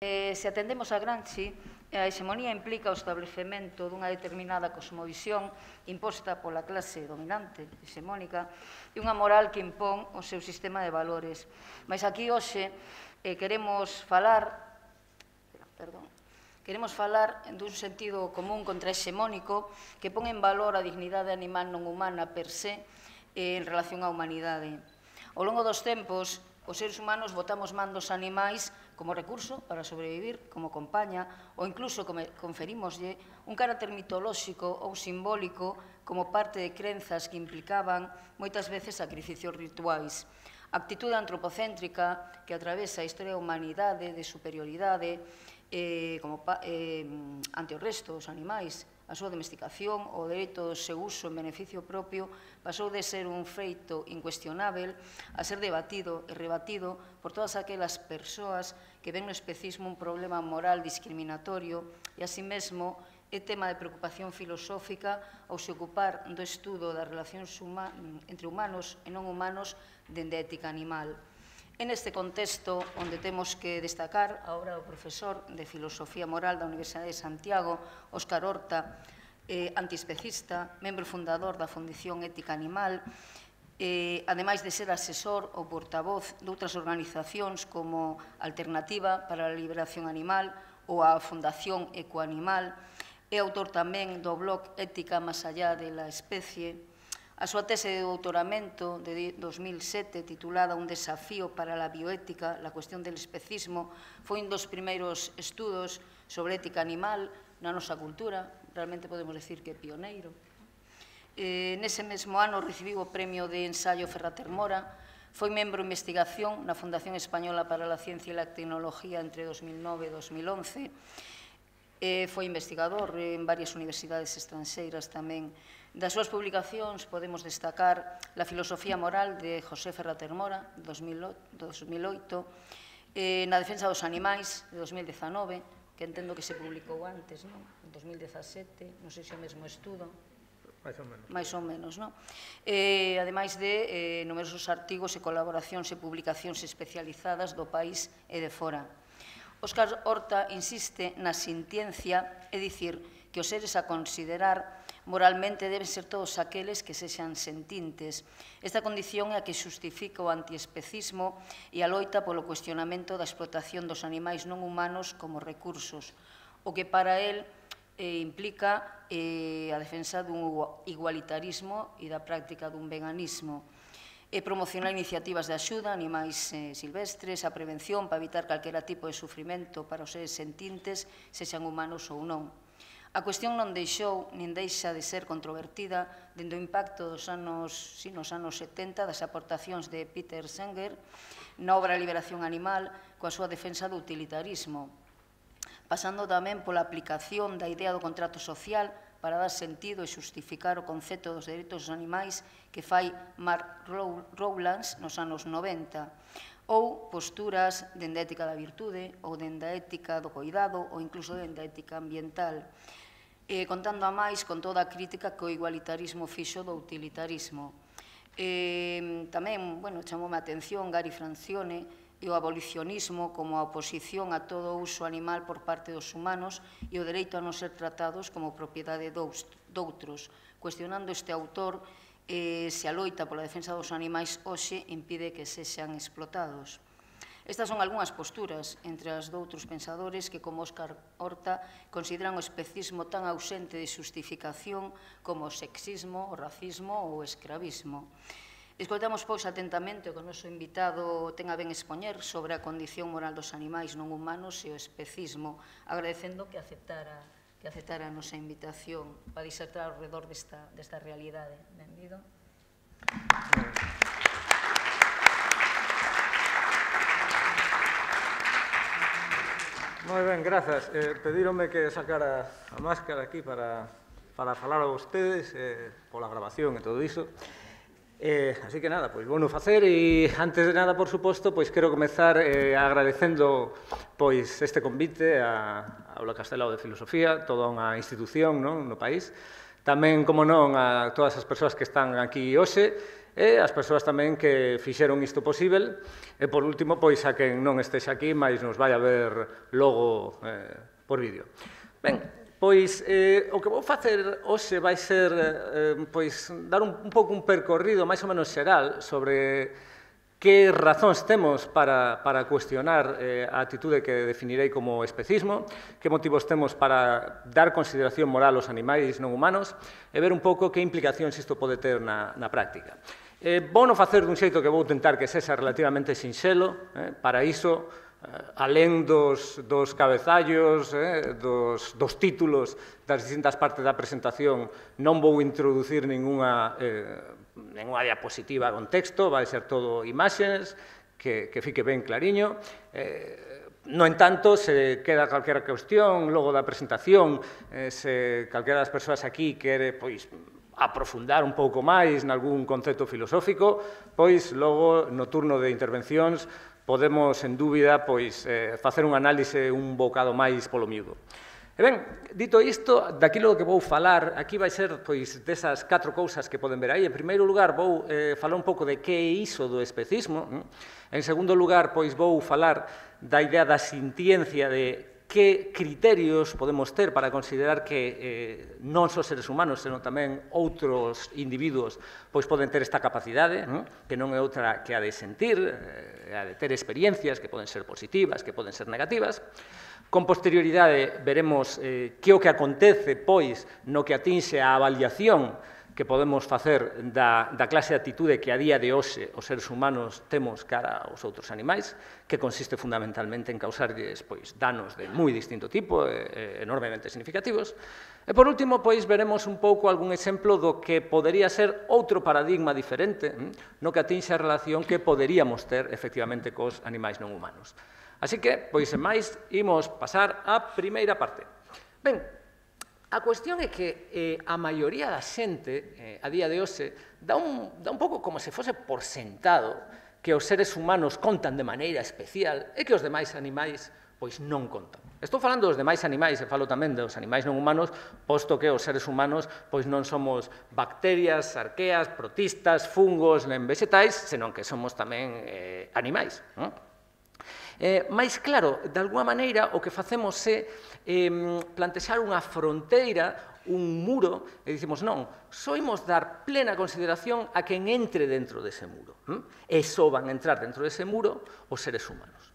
Se atendemos a Gramsci, a hexemonía implica o establecemento dunha determinada cosmovisión imposta pola clase dominante, hexemónica, e unha moral que impón o seu sistema de valores. Mas aquí hoxe queremos falar dun sentido común contrahexemónico que pon en valor a dignidade animal non humana per se en relación á humanidade. Ao longo dos tempos, os seres humanos botamos man dos animais como recurso para sobrevivir, como compaña, ou incluso conferímoslle un carácter mitolóxico ou simbólico como parte de crenzas que implicaban moitas veces sacrificios rituais. A actitude antropocéntrica que atravesa a historia da humanidade de superioridade ante o resto dos animais, a súa domesticación, o dereito do seu uso en beneficio propio, pasou de ser un feito incuestionável a ser debatido e rebatido por todas aquelas persoas que ven no especismo un problema moral discriminatorio e, así mesmo, é tema de preocupación filosófica ao se ocupar do estudo das relacións entre humanos e non humanos dende a ética animal. En este contexto, onde temos que destacar a obra do profesor de Filosofía Moral da Universidade de Santiago, Óscar Horta, antiespecista, membro fundador da Fundación Ética Animal, ademais de ser asesor ou portavoz de outras organizacións como Alternativa para a Liberación Animal ou a Fundación Ecoanimal, é autor tamén do blog Ética más allá de la especie. A súa tese de doutoramento de 2007, titulada Un desafío para la bioética, la cuestión del especismo, foi un dos primeiros estudos sobre ética animal na nosa cultura, realmente podemos decir que é pioneiro. Nese mesmo ano recibiu o premio de ensayo Ferrater Mora, foi membro de investigación na Fundación Española para la Ciencia e la Tecnología entre 2009 e 2011, foi investigador en varias universidades estranxeiras tamén. Das súas publicacións podemos destacar La filosofía moral de José Ferrater Mora, de 2008, Na defensa dos animais, de 2019, que entendo que se publicou antes, en 2017, non sei se é o mesmo estudo. Mais ou menos, non? Ademais de numerosos artigos e colaboracións e publicacións especializadas do país e de fora. Óscar Horta insiste na sintiencia, é dicir, que os seres a considerar moralmente deben ser todos aqueles que sexan sentintes. Esta condición é a que xustifica o antiespecismo e a loita polo cuestionamento da explotación dos animais non humanos como recursos, o que para él implica a defensa dun igualitarismo e da práctica dun veganismo. Promocionar iniciativas de axuda a animais silvestres, a prevención para evitar calquera tipo de sufrimento para os seres sentintes, sexan humanos ou non. A cuestión non deixou nin deixa de ser controvertida dende o impacto nos anos 70 das aportacións de Peter Singer na obra Liberación Animal coa súa defensa do utilitarismo, pasando tamén pola aplicación da idea do contrato social para dar sentido e xustificar o concepto dos dereitos dos animais que fai Mark Rowlands nos anos 90, ou posturas dende a ética da virtude, ou dende a ética do cuidado, ou incluso dende a ética ambiental, contando a máis con toda a crítica que o igualitarismo fixo do utilitarismo. Tamén, chamoume a atención Gary Francione e o abolicionismo como a oposición a todo o uso animal por parte dos humanos e o dereito a non ser tratados como propiedade doutros, cuestionando este autor se a loita pola defensa dos animais hoxe impide que sexan explotados. Estas son algunhas posturas entre as doutros pensadores que, como Óscar Horta, consideran o especismo tan ausente de xustificación como o sexismo, o racismo ou o escravismo. Escoitamos, pois, atentamente o que o noso invitado ten a ben expoñer sobre a condición moral dos animais non humanos e o especismo, agradecendo que aceptara a nosa invitación para disertar ao redor desta realidade. Benvido. Moi ben, grazas. Pedíronme que sacara a máscara aquí para falar a vostedes pola grabación e todo iso. Así que nada, pois vouno facer e antes de nada, por suposto, pois quero comezar agradecendo pois este convite á Aula Castelao de Filosofía, toda unha institución no país, tamén, como non, a todas as persoas que están aquí hoxe, e as persoas tamén que fixeron isto posible, e por último, pois a quen non estexe aquí, mas nos vai a ver logo por vídeo. Ben, pois o que vou facer hoxe vai ser pois dar un pouco un percorrido máis ou menos xeral sobre que razóns temos para cuestionar a atitude que definirei como especismo, que motivos temos para dar consideración moral aos animais non humanos e ver un pouco que implicacións isto pode ter na práctica. Vou non facer dun xeito que vou tentar que sexa relativamente sinxelo, para iso, alén dos cabezallos, dos títulos das distintas partes da presentación, non vou introducir ninguna diapositiva con texto, vai ser todo imaxes, que fique ben clariño. No entanto, se queda calquera cuestión logo da presentación, se calquera das persoas aquí quere aprofundar un pouco máis nalgún concepto filosófico, pois logo no turno de intervencións podemos, en dúbida, facer un análise un bocado máis polo miúdo. E ben, dito isto, daquilo que vou falar, aquí vai ser desas 4 cousas que poden ver aí. En primeiro lugar, vou falar un pouco de que é iso do especismo. En segundo lugar, vou falar da idea da sintiencia, de que criterios podemos ter para considerar que non só seres humanos, senón tamén outros individuos poden ter esta capacidade, que non é outra que a de sentir, a de ter experiencias que poden ser positivas, que poden ser negativas. Con posterioridade veremos que o que acontece, no que atinxe a avaliación que podemos facer da clase de atitude que a día de hoxe os seres humanos temos cara aos outros animais, que consiste fundamentalmente en causarlles danos de moi distinto tipo, enormemente significativos. E, por último, veremos un pouco algún exemplo do que podería ser outro paradigma diferente no que atinxe a relación que poderíamos ter, efectivamente, cos animais non humanos. Así que, sen máis, imos pasar á primeira parte. Ben, a cuestión é que a maioría da xente, a día de hoxe, dá un pouco como se fose por sentado que os seres humanos contan de maneira especial e que os demais animais non contan. Estou falando dos demais animais e falo tamén dos animais non humanos, posto que os seres humanos non somos bacterias, arqueas, protistas, fungos, nen vegetais, senón que somos tamén animais. Mais, claro, de alguma maneira, o que facemos é plantexar unha fronteira, un muro, e dicimos, non, só imos dar plena consideración a quen entre dentro dese muro. E só van entrar dentro dese muro os seres humanos.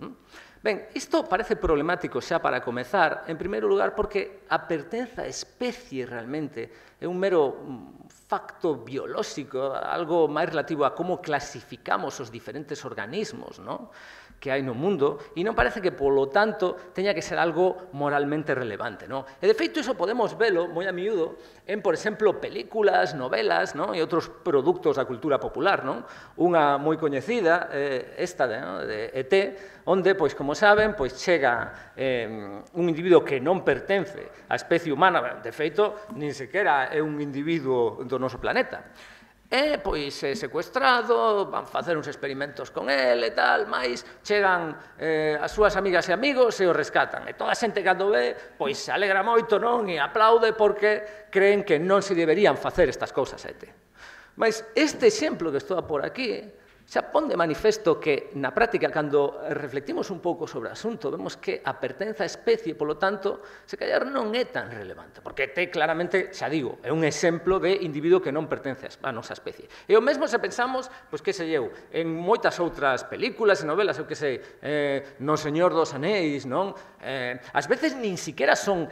Ben, isto parece problemático xa para comezar, en primeiro lugar, porque a pertenza á especie realmente é un mero facto biolóxico, algo máis relativo a como clasificamos os diferentes organismos, non? Que hai no mundo, e non parece que, polo tanto, teña que ser algo moralmente relevante, non? E, de feito, iso podemos velo moi a miúdo en, por exemplo, películas, novelas, non? E outros produtos da cultura popular, non? Unha moi coñecida, esta de ET, onde, como saben, chega un individuo que non pertence á especie humana, de feito, nin sequera é un individuo do noso planeta. E, é secuestrado, van facer uns experimentos con el e tal, mais chegan as súas amigas e amigos e o rescatan. E toda a xente cando ve, se alegra moito, non? E aplaude porque creen que non se deberían facer estas cousas a ET. Mas este exemplo que estou a por aquí xa pon de manifesto que, na práctica, cando reflectimos un pouco sobre o asunto, vemos que a pertenza á especie, polo tanto, se callar non é tan relevante, porque te claramente, xa digo, é un exemplo de individuo que non pertence á nosa especie. E o mesmo se pensamos, que sei eu, en moitas outras películas e novelas, eu que sei, no Señor dos Anéis, non? Ás veces nin siquiera son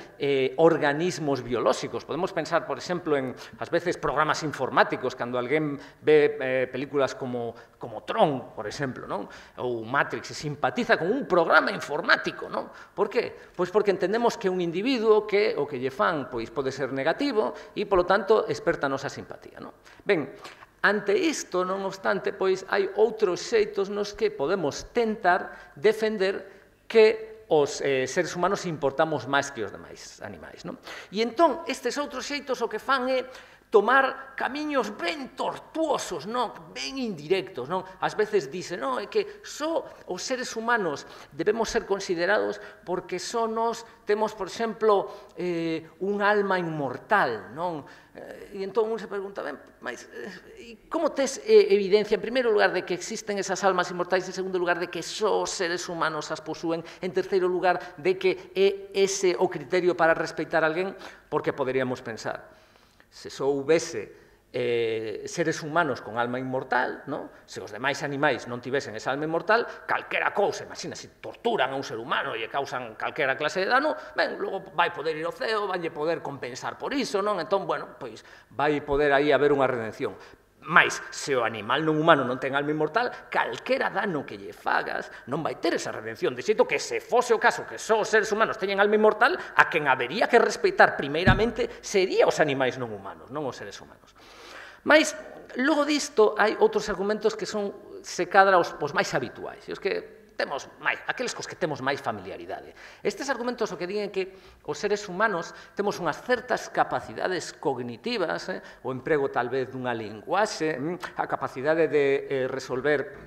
organismos biolóxicos. Podemos pensar, por exemplo, en, ás veces, programas informáticos, cando alguén ve películas como Tron, por exemplo, non? Ou Matrix, se simpatiza con un programa informático, non? Por que? Pois porque entendemos que un individuo que o que lle fan pode ser negativo e, polo tanto, esperta a nosa simpatía, non? Ben, ante isto, non obstante, hai outros xeitos nos que podemos tentar defender que os seres humanos importamos máis que os demais animais, non? E entón, estes outros xeitos o que fan é tomar camiños ben tortuosos, non? Ben indirectos, non? Ás veces dice, non, é que só os seres humanos debemos ser considerados porque só nos temos, por exemplo, un alma inmortal, non? E entón un se pregunta, ben, mas como tes evidencia, en primeiro lugar, de que existen esas almas inmortais, en segundo lugar, de que só os seres humanos as posúen, en terceiro lugar, de que é ese o criterio para respeitar a alguén? Porque poderíamos pensar, se só houvese seres humanos con alma inmortal, non? Se os demais animais non tivesen esa alma inmortal, calquera cousa, imagina, se torturan a un ser humano e causan calquera clase de dano, ben, logo vai poder ir ao ceo, vai poder compensar por iso, non? Entón, bueno, pois vai poder aí haber unha redención. Mais, se o animal non humano non ten alma inmortal, calquera dano que lle fagas non vai ter esa redención. De xeito que se fose o caso que só os seres humanos teñen alma inmortal, a quen habería que respeitar primeiramente sería os animais non humanos, non os seres humanos. Mais, logo disto, hai outros argumentos que son, se cadra, os máis habituais, e os que temos máis, aqueles cos que temos máis familiaridade. Estes argumentos o que digen que os seres humanos temos unhas certas capacidades cognitivas, o emprego tal vez dunha linguaxe, a capacidade de resolver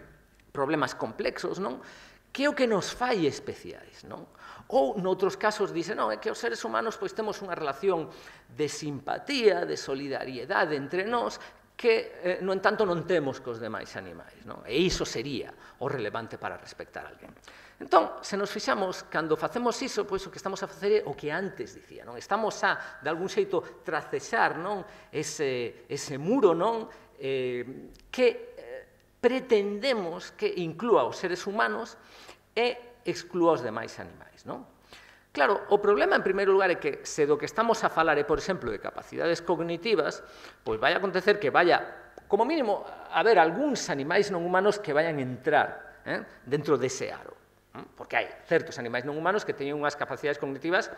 problemas complexos, non? Que é o que nos fai especiais, non? Ou, noutros casos, dicen, non, é que os seres humanos pois temos unha relación de simpatía, de solidariedade entre nós, que, no entanto, non temos cos demais animais, non? E iso sería o relevante para respectar a alguén. Entón, se nos fixamos, cando facemos iso, pois o que estamos a facer é o que antes dicía, non? Estamos a, de algún xeito, tracexar, non? Ese muro, non? Que pretendemos que inclúa os seres humanos e exclúa os demais animais, non? Claro, o problema, en primeiro lugar, é que se do que estamos a falar é, por exemplo, de capacidades cognitivas, pois vai acontecer que vaya, como mínimo, haber algúns animais non humanos que vayan entrar dentro dese aro. Porque hai certos animais non humanos que teñen unhas capacidades cognitivas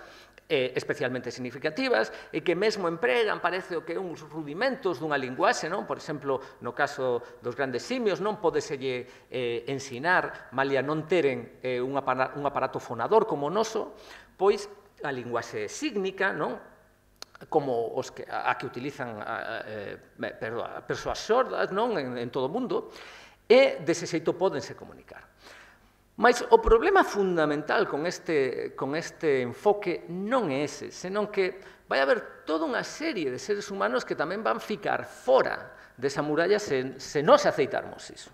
especialmente significativas e que mesmo empregan, parece o que uns rudimentos dunha linguaxe, non? Por exemplo, no caso dos grandes simios, non podeselle ensinar, malia non teren un aparato fonador como o noso, pois a linguaxe sígnica, non? Como a que utilizan persoas sordas, non? En todo o mundo, e dese xeito pódense comunicar. Mas o problema fundamental con este enfoque non é ese, senón que vai haber toda unha serie de seres humanos que tamén van ficar fora desa muralla se non se aceitarmos iso.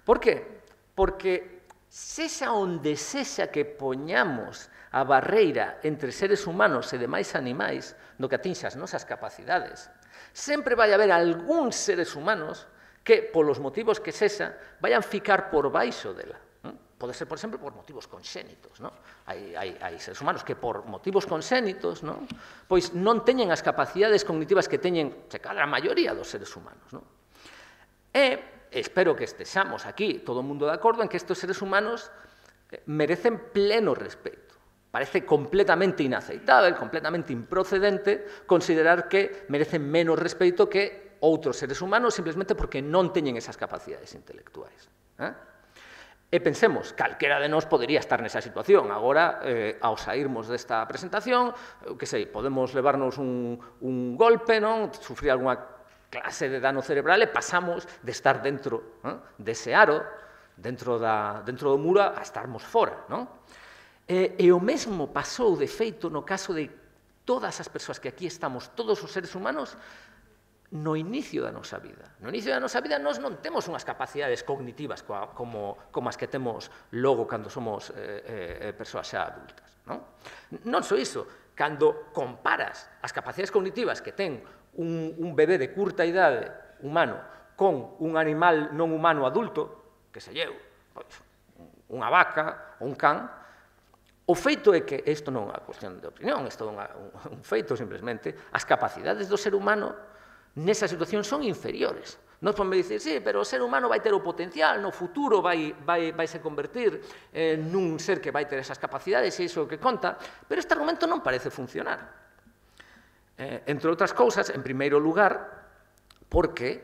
Por que? Porque sexa onde sexa que poñamos a barreira entre seres humanos e demais animais no que atinxe as nosas capacidades, sempre vai haber algúns seres humanos que, polos motivos que sexa, vayan ficar por baixo dela. Pode ser, por exemplo, por motivos conxénitos, non? Hai seres humanos que, por motivos conxénitos, non? Pois non teñen as capacidades cognitivas que teñen, se cadra, a maioría dos seres humanos, non? E espero que estexamos aquí, todo o mundo de acordo, en que estes seres humanos merecen pleno respeto. Parece completamente inaceitable, completamente improcedente, considerar que merecen menos respeito que outros seres humanos simplemente porque non teñen esas capacidades intelectuais. E pensemos, calquera de nós podería estar nesa situación. Agora, ao sairmos desta presentación, que sei, podemos levarnos un golpe, non? Sufrir algunha clase de dano cerebral e pasamos de estar dentro dese aro, dentro do muro, a estarmos fora, non? E o mesmo pasou, de feito, no caso de todas as persoas que aquí estamos, todos os seres humanos, no inicio da nosa vida. No inicio da nosa vida nós non temos unhas capacidades cognitivas como as que temos logo cando somos persoas xa adultas. Non só iso, cando comparas as capacidades cognitivas que ten un bebé de curta idade humano con un animal non humano adulto, que se lleu, unha vaca ou un can, o feito é que isto non é unha cuestión de opinión, isto é un feito simplemente, as capacidades do ser humano nesa situación son inferiores. Nos podemos dicir, sí, pero o ser humano vai ter o potencial, no futuro vai se convertir nun ser que vai ter esas capacidades e iso é o que conta, pero este argumento non parece funcionar. Entre outras cousas, en primeiro lugar, porque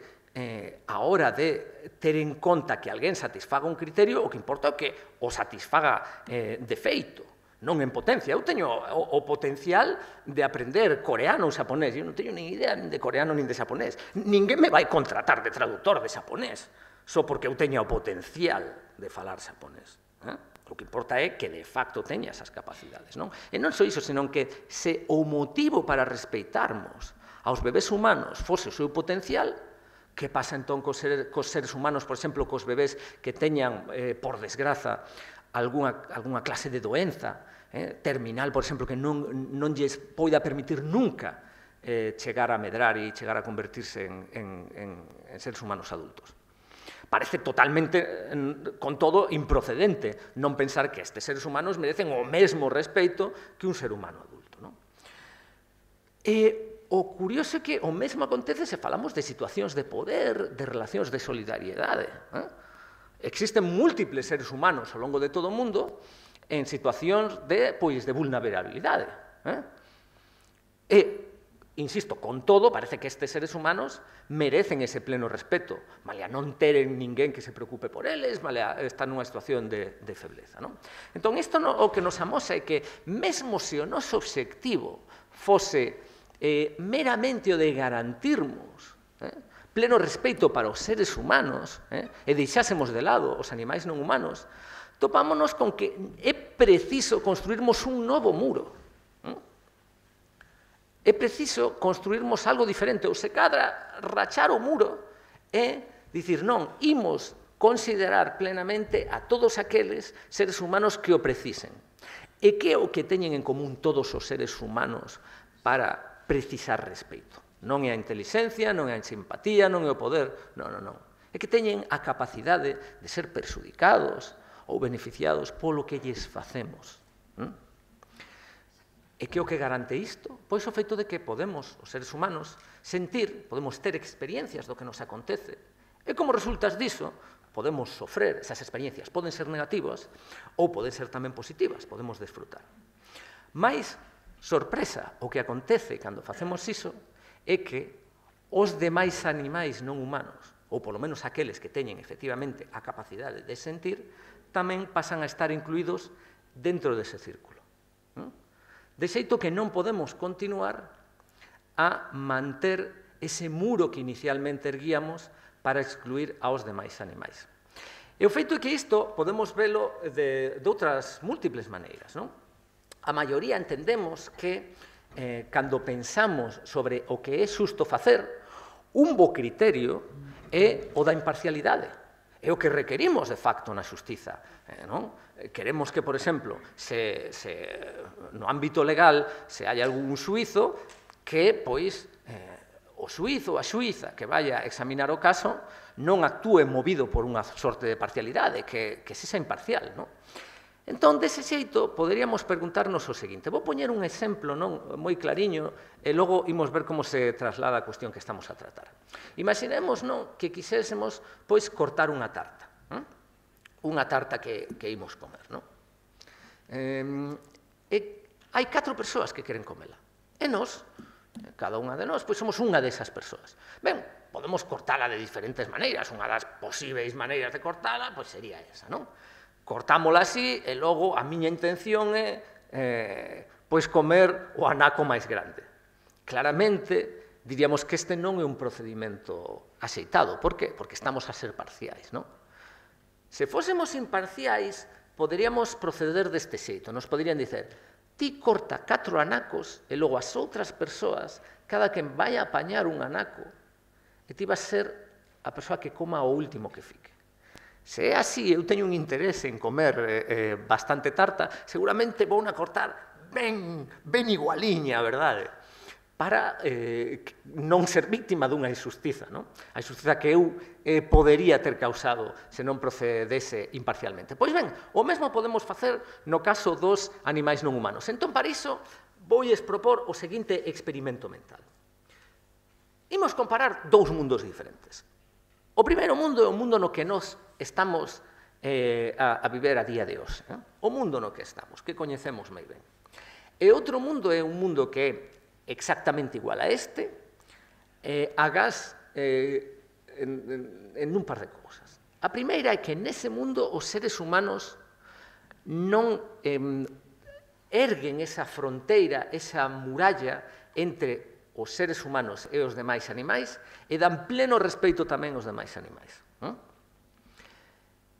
a hora de ter en conta que alguén satisfaga un criterio, o que importa é que o satisfaga de feito. non en potencia. Eu teño o potencial de aprender coreano ou xaponés. Eu non teño nin idea de coreano nin de xaponés. Ninguén me vai contratar de traductor de xaponés só porque eu teña o potencial de falar xaponés. O que importa é que de facto teña esas capacidades, non? E non só iso, senón que se o motivo para respeitarmos aos bebés humanos fose o seu potencial, que pasa entón cos seres humanos, por exemplo, cos bebés que teñan, por desgraza, algunha clase de doenza terminal, por exemplo, que non lles poida permitir nunca chegar a medrar e chegar a convertirse en seres humanos adultos. Parece totalmente, con todo, improcedente non pensar que estes seres humanos merecen o mesmo respeito que un ser humano adulto. E o curioso é que o mesmo acontece se falamos de situacións de poder, de relacións de solidariedade. Existen múltiples seres humanos ao longo de todo o mundo en situacións de vulnerabilidade. E, insisto, con todo, parece que estes seres humanos merecen ese pleno respeto, malia non teren ninguén que se preocupe por eles, malia están nunha situación de febleza. Entón, isto o que nos amosa é que, mesmo se o noso obxectivo fose meramente o de garantirmos pleno respeito para os seres humanos e deixásemos de lado os animais non humanos, topámonos con que é preciso construirmos un novo muro. É preciso construirmos algo diferente, ou se cadra rachar o muro e dicir non, imos considerar plenamente a todos aqueles seres humanos que o precisen. E que é o que teñen en común todos os seres humanos para precisar respeito? Non é a intelixencia, non é a simpatía, non é o poder, non. É que teñen a capacidade de ser perxudicados ou beneficiados polo que lles facemos. E que o que garante isto? Pois o feito de que podemos, os seres humanos, sentir, podemos ter experiencias do que nos acontece. E como resultas diso, podemos sofrer esas experiencias. Poden ser negativas ou poden ser tamén positivas, podemos desfrutar. Mais, sorpresa, o que acontece cando facemos iso é que os demais animais non humanos, ou polo menos aqueles que teñen efectivamente a capacidade de sentir, tamén pasan a estar incluídos dentro dese círculo. De xeito que non podemos continuar a manter ese muro que inicialmente erguíamos para excluir aos demais animais. E o feito é que isto podemos velo de outras múltiples maneiras. A maioría entendemos que, cando pensamos sobre o que é xusto facer, un bo criterio é o da imparcialidade. É o que requerimos, de facto, na xustiza. Queremos que, por exemplo, no ámbito legal se hai algún xuízo que, pois, o xuízo ou a xuíza que vaya a examinar o caso non actúe movido por unha sorte de parcialidade, que sexa imparcial. Entón, dese xeito, poderíamos preguntarnos o seguinte. Vou poñer un exemplo moi clariño e logo imos ver como se traslada a cuestión que estamos a tratar. Imaginemos que quixésemos cortar unha tarta. Unha tarta que imos comer. Hai 4 persoas que queren comela. E nós, cada unha de nós, somos unha desas persoas. Ben, podemos cortala de diferentes maneiras. Unha das posíveis maneiras de cortala sería esa, non? Cortámola así e logo a miña intención é comer o anaco máis grande. Claramente, diríamos que este non é un procedimento axeitado. Por que? Porque estamos a ser parciais, non? Se fósemos imparciais, poderíamos proceder deste xeito. Nos poderían dizer, ti corta 4 anacos e logo as outras persoas, cada quen vai a apañar un anaco, e ti vas ser a persoa que coma o último que fique. Se é así, eu teño un interese en comer bastante tarta, seguramente vou a cortar ben igualiña, verdade? Para non ser víctima dunha injustiza, a injustiza que eu podería ter causado se non procedese imparcialmente. Pois ben, o mesmo podemos facer no caso dos animais non humanos. Entón, para iso, voulles propor o seguinte experimento mental. Imos comparar 2 mundos diferentes. O primeiro mundo é o mundo no que nós estamos a viver a día de hoxe. O mundo no que estamos, que coñecemos moi ben. E outro mundo é un mundo que é exactamente igual a este, agás en un par de cousas. A primeira é que nese mundo os seres humanos non erguen esa fronteira, esa muralla entre os seres humanos e os demais animais e dan pleno respeito tamén aos demais animais.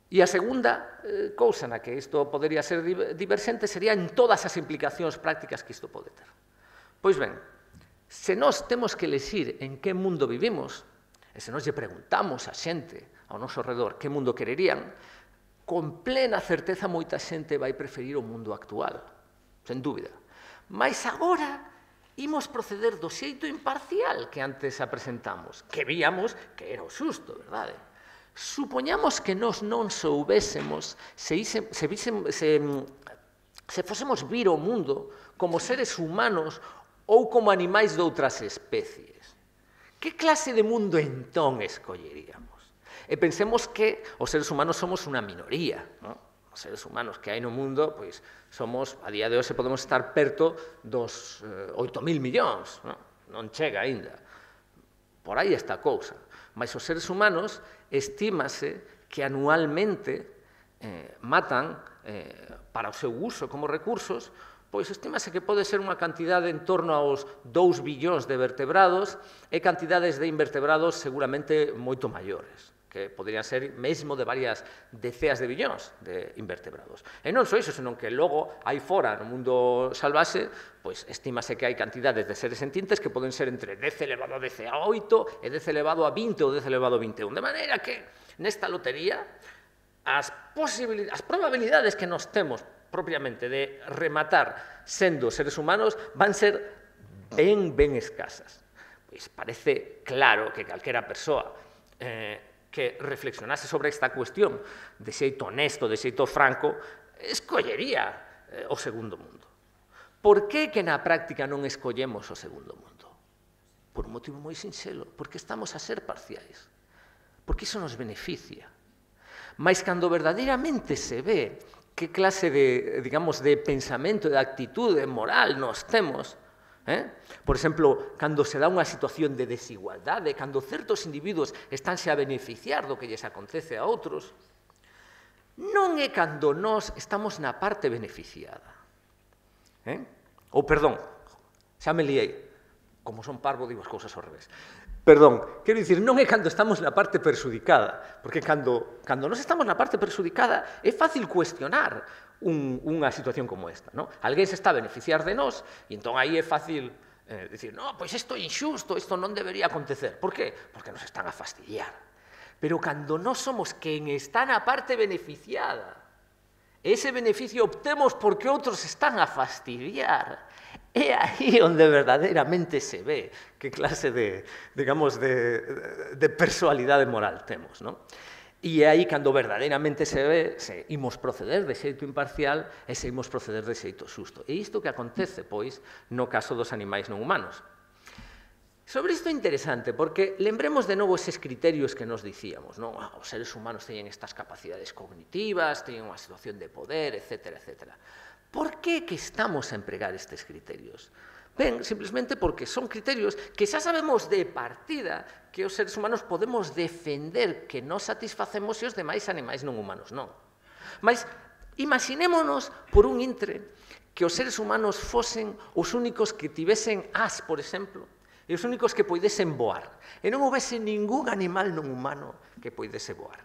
E a segunda cousa na que isto podería ser diverxente sería en todas as implicacións prácticas que isto pode ter. Pois ben, se nós temos que elexir en que mundo vivimos, e se nós lle preguntamos a xente ao noso redor que mundo quererían, con plena certeza moita xente vai preferir o mundo actual, sen dúbida. Mas agora imos proceder do xeito imparcial que antes apresentamos, que víamos que era o xusto, verdade? Supoñamos que nós non soubésemos, se fósemos vir o mundo como seres humanos ou como animais de outras especies. Que clase de mundo entón escolleríamos? E pensemos que os seres humanos somos unha minoría, non? Os seres humanos que hai no mundo, pois, somos, a día de hoxe podemos estar perto dos 8.000 millóns, non chega aínda. Por aí está a cousa. Mas os seres humanos estímase que anualmente matan para o seu uso como recursos, pois estímase que pode ser unha cantidade en torno aos 2 billóns de vertebrados e cantidades de invertebrados seguramente moito maiores, que poderían ser mesmo de varias deceas de billóns de invertebrados. E non só iso, senón que logo aí fora, no mundo salvaxe, pois estímase que hai cantidades de seres sentientes que poden ser entre 10 elevado a 10 a 8 e 10 elevado a 20 ou 10 elevado a 21. De maneira que nesta lotería as probabilidades que nos temos propiamente de rematar sendo seres humanos van ser ben escasas. Pois parece claro que calquera persoa que reflexionase sobre esta cuestión de xeito honesto, de xeito franco, escollería o segundo mundo. Por que que na práctica non escollemos o segundo mundo? Por un motivo moi sinxelo, porque estamos a ser parciais, porque iso nos beneficia. Mas cando verdadeiramente se ve que clase de, digamos, de pensamento, de actitude moral nos temos, por exemplo, cando se dá unha situación de desigualdade, cando certos individuos estánse a beneficiar do que lles acontece a outros, non é cando nós estamos na parte beneficiada. Ou, perdón, xa me liei, como son parvo digo as cousas ao revés. Perdón, quero dicir, non é cando estamos na parte perxudicada, porque cando nós estamos na parte perxudicada é fácil cuestionar unha situación como esta, non? Alguén se está a beneficiar de nós e entón aí é fácil dicir, non, pois isto é injusto, isto non debería acontecer. Por qué? Porque nos están a fastidiar. Pero cando nós somos quen está na parte beneficiada, ese beneficio obtemos porque outros están a fastidiar, é aí onde verdadeiramente se ve que clase de, digamos, de personalidade moral temos, non? E é aí cando verdadeiramente se ve se imos proceder de xeito imparcial e se imos proceder de xeito xusto. E isto que acontece, pois, no caso dos animais non humanos. Sobre isto é interesante, porque lembremos de novo eses criterios que nos dicíamos, non? Os seres humanos teñen estas capacidades cognitivas, teñen unha situación de poder, etc. Por que que estamos a empregar estes criterios? Ben, simplemente porque son criterios que xa sabemos de partida que os seres humanos podemos defender que non satisfacemos e os demais animais non humanos non. Mas imaginémonos por un intre que os seres humanos fosen os únicos que tivesen as, por exemplo, e os únicos que poidesen voar, e non houvese ningún animal non humano que poidese voar.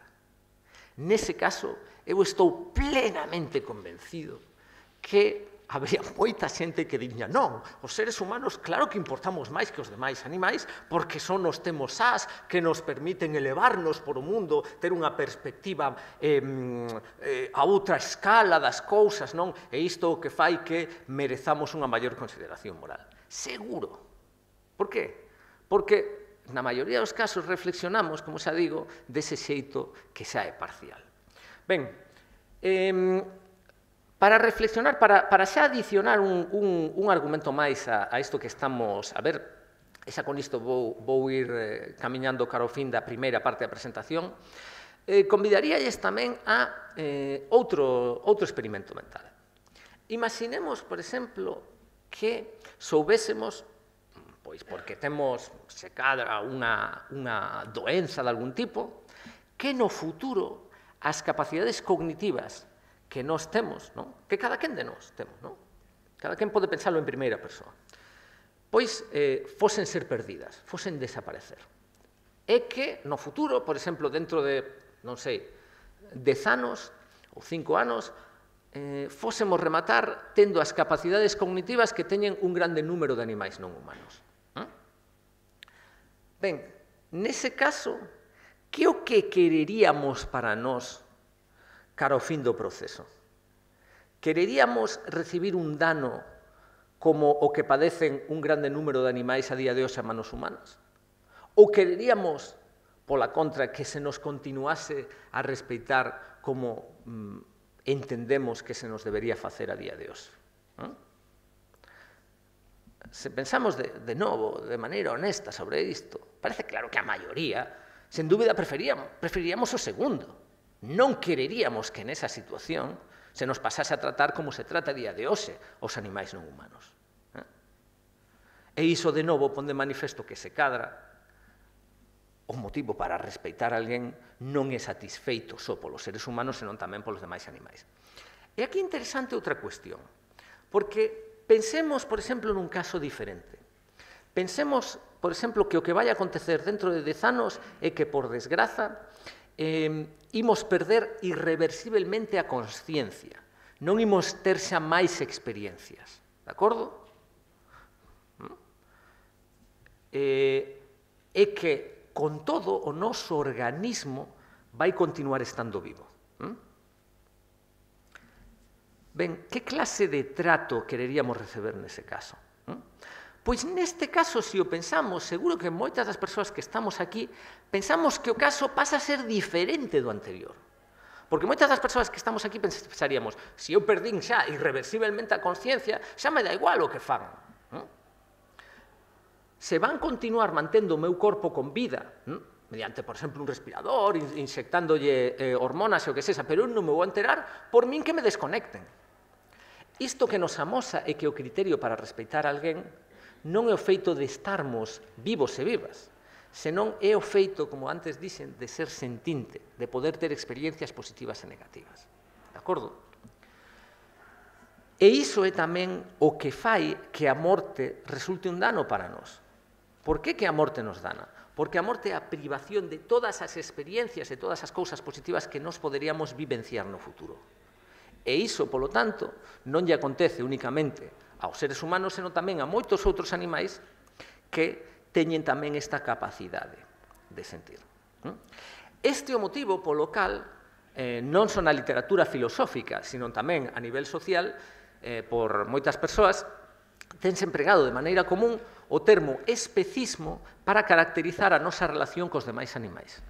Nese caso, eu estou plenamente convencido que habría moita xente que diría non, os seres humanos claro que importamos máis que os demais animais porque só nos temos as que nos permiten elevarnos por o mundo, ter unha perspectiva a outra escala das cousas, non? E isto o que fai que merezamos unha maior consideración moral. Seguro. Por qué? Porque na maioría dos casos reflexionamos, como xa digo, dese xeito que xa é parcial. Ben, para reflexionar, para xa adicionar un argumento máis a isto que estamos a ver, e xa con isto vou ir camiñando cara ao fin da primeira parte da presentación, convidaríalles tamén a outro experimento mental. Imaginemos, por exemplo, que soubésemos, pois porque temos, se cadra, unha doenza de algún tipo, que no futuro as capacidades cognitivas que nós temos, non? Que cada quen de nós temos, non? cada quen pode pensalo en primeira persoa, pois fosen ser perdidas, fosen desaparecer. É que no futuro, por exemplo, dentro de, non sei, 10 anos ou 5 anos, fósemos rematar tendo as capacidades cognitivas que teñen un grande número de animais non humanos. Ben, nese caso, que o que quereríamos para nós cara ao fin do proceso? Quereríamos recibir un dano como o que padecen un grande número de animais a día de hoxe a manos humanas? Ou quereríamos, pola contra, que se nos continuase a respeitar como entendemos que se nos debería facer a día de hoxe? Se pensamos de novo, de maneira honesta sobre isto, parece claro que a maioría, sen dúbida, preferiríamos o segundo. Non quereríamos que nesa situación se nos pasase a tratar como se trata a día de hoxe os animais non humanos. E iso, de novo, pon de manifesto que se cadra o motivo para respeitar a alguén non é satisfeito só polos seres humanos, senón tamén polos demais animais. E aquí é interesante outra cuestión, porque pensemos, por exemplo, nun caso diferente. Pensemos, por exemplo, que o que vai acontecer dentro de 10 anos é que, por desgraza, imos perder irreversiblemente a consciencia. Non imos ter xa máis experiencias. De acordo? É que, con todo, o noso organismo vai continuar estando vivo. Ben, que clase de trato quereríamos receber nese caso? Pois neste caso, se o pensamos, seguro que moitas das persoas que estamos aquí pensamos que o caso pasa a ser diferente do anterior. Porque moitas das persoas que estamos aquí pensaríamos, se eu perdín xa irreversiblemente a consciencia, xa me dá igual o que fagan. Se van continuar mantendo o meu corpo con vida, mediante, por exemplo, un respirador, inyectándolle hormonas e o que sexa, pero eu non me vou enterar, por min que me desconecten. Isto que nos amosa é que o criterio para respeitar a alguén non é o feito de estarmos vivos e vivas, senón é o feito, como antes dixen, de ser sentinte, de poder ter experiencias positivas e negativas. De acordo? E iso é tamén o que fai que a morte resulte un dano para nós. Por que a morte nos dana? Porque a morte é a privación de todas as experiencias e todas as cousas positivas que nós poderíamos vivenciar no futuro. E iso, polo tanto, non lle acontece únicamente aos seres humanos, senón tamén a moitos outros animais que teñen tamén esta capacidade de sentir. Este é o motivo polo cal non só na literatura filosófica, sino tamén a nivel social, por moitas persoas, tense empregado de maneira común o termo especismo para caracterizar a nosa relación cos demais animais.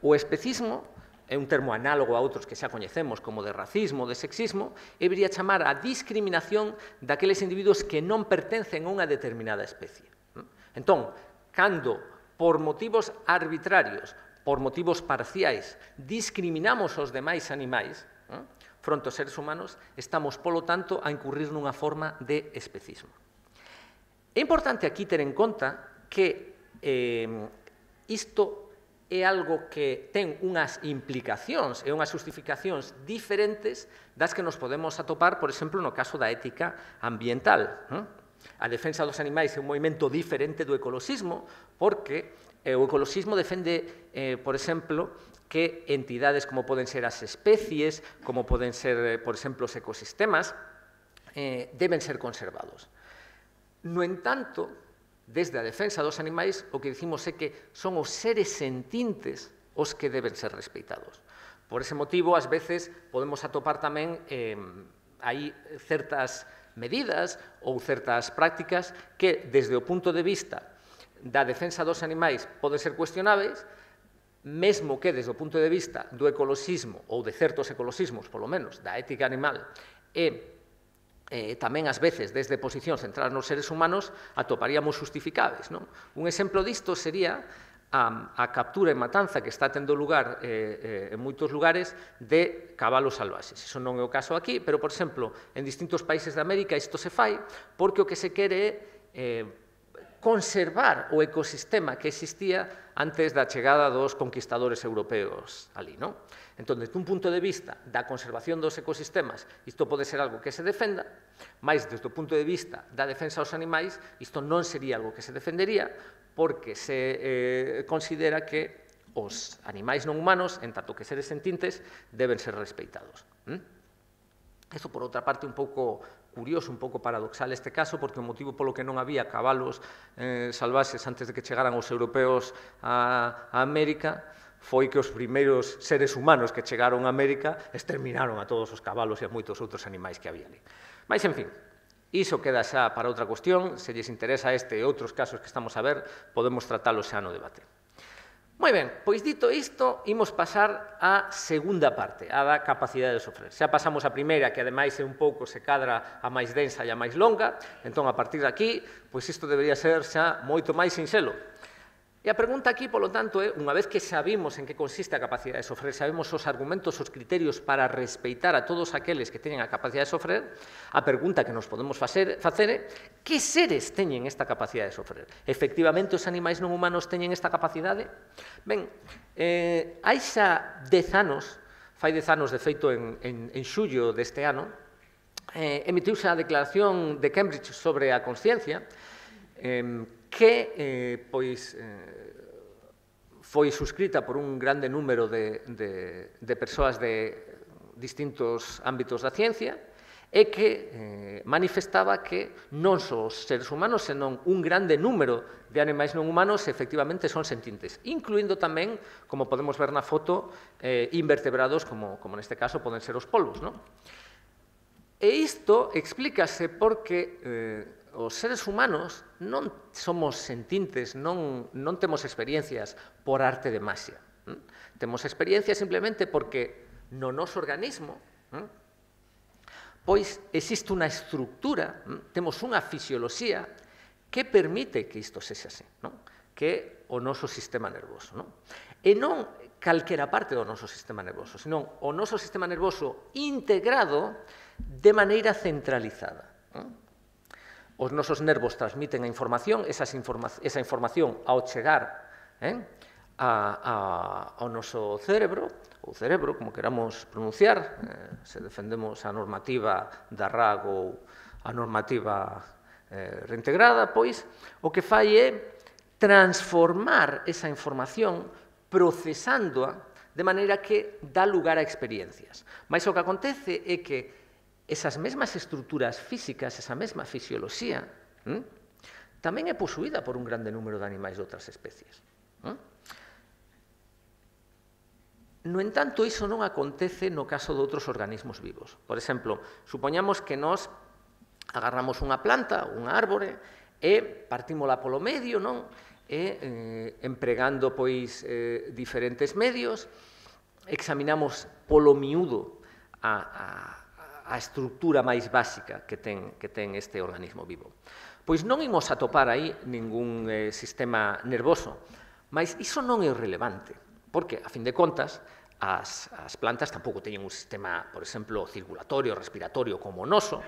O especismo é un termo análogo a outros que xa coñecemos, como de racismo, de sexismo, e debería chamar a discriminación daqueles individuos que non pertencen a unha determinada especie. Entón, cando, por motivos arbitrarios, por motivos parciais, discriminamos os demais animais, fronte aos seres humanos, estamos, polo tanto, a incurrir nunha forma de especismo. É importante aquí ter en conta que isto é algo que ten unhas implicacións e unhas justificacións diferentes das que nos podemos atopar, por exemplo, no caso da ética ambiental. A defensa dos animais é un movimento diferente do ecoloxismo, porque o ecoloxismo defende, por exemplo, que entidades como poden ser as especies, como poden ser, por exemplo, os ecosistemas, deben ser conservados. No entanto, desde a defensa dos animais, o que dicimos é que son os seres sentintes os que deben ser respeitados. Por ese motivo, ás veces, podemos atopar tamén aí certas medidas ou certas prácticas que, desde o punto de vista da defensa dos animais, poden ser cuestionáveis, mesmo que, desde o punto de vista do ecoloxismo, ou de certos ecoloxismos, polo menos, da ética animal, e tamén, ás veces, desde posicións centradas nos seres humanos, atoparíamos justificáveis. Un exemplo disto sería a captura e matanza que está tendo lugar en moitos lugares de cabalos salvaxes. Iso non é o caso aquí, pero, por exemplo, en distintos países de América isto se fai porque o que se quere é conservar o ecosistema que existía antes da chegada dos conquistadores europeos ali, non? Entón, desde un punto de vista da conservación dos ecosistemas, isto pode ser algo que se defenda, mas desde o punto de vista da defensa aos animais, isto non sería algo que se defendería, porque se considera que os animais non humanos, en tanto que seres sentintes, deben ser respeitados. Isto, por outra parte, un pouco curioso, un pouco paradoxal este caso, porque o motivo polo que non había cabalos salvaxes antes de que chegaran os europeos a América foi que os primeiros seres humanos que chegaron a América exterminaron a todos os cabalos e a moitos outros animais que había ali. Mas, en fin, iso queda xa para outra cuestión. Se lles interesa este e outros casos que estamos a ver, podemos tratalos xa no debate. Moi ben, pois dito isto, imos pasar á segunda parte, a da capacidade de sofrer. Xa pasamos a primeira, que ademais é un pouco se cadra a máis densa e a máis longa, entón a partir de aquí, pois isto debería ser xa moito máis sinxelo. E a pregunta aquí, polo tanto, é, unha vez que sabimos en que consiste a capacidade de sofrer, sabemos os argumentos, os criterios para respeitar a todos aqueles que teñen a capacidade de sofrer, a pregunta que nos podemos facer é que seres teñen esta capacidade de sofrer? Efectivamente, os animais non humanos teñen esta capacidade? Ben, hai xa 10 anos, fai 10 anos, de feito, en xullo deste ano, emitiuse a Declaración de Cambridge sobre a consciencia, que foi suscrita por un grande número de persoas de distintos ámbitos da ciencia e que manifestaba que non só os seres humanos, senón un grande número de animais non humanos efectivamente son sentintes, incluindo tamén, como podemos ver na foto, invertebrados como neste caso poden ser os polvos, non? E isto explícase porque os seres humanos non somos sentintes, non temos experiencias por arte de maxia. Temos experiencias simplemente porque no noso organismo pois existe unha estructura, temos unha fisioloxía que permite que isto sexa así, que é o noso sistema nervoso. E non calquera parte do noso sistema nervoso, senón o noso sistema nervoso integrado de maneira centralizada. Os nosos nervos transmiten a información, esa información ao chegar ao noso cerebro, ou cerebro, como queramos pronunciar, se defendemos a normativa da RAG ou a normativa reintegrada, pois o que fai é transformar esa información procesándoa de maneira que dá lugar a experiencias. Mas o que acontece é que esas mesmas estruturas físicas, esa mesma fisioloxía, tamén é posuída por un grande número de animais de outras especies. No entanto, iso non acontece no caso de outros organismos vivos. Por exemplo, supoñamos que nós agarramos unha planta, unha árbore, e partímola polo medio, non? E empregando pois diferentes medios, examinamos polo miúdo a estructura máis básica que ten este organismo vivo. Pois non imos atopar aí ningún sistema nervoso, mas iso non é relevante, porque, a fin de contas, as plantas tampouco teñen un sistema, por exemplo, circulatorio, respiratorio como o noso,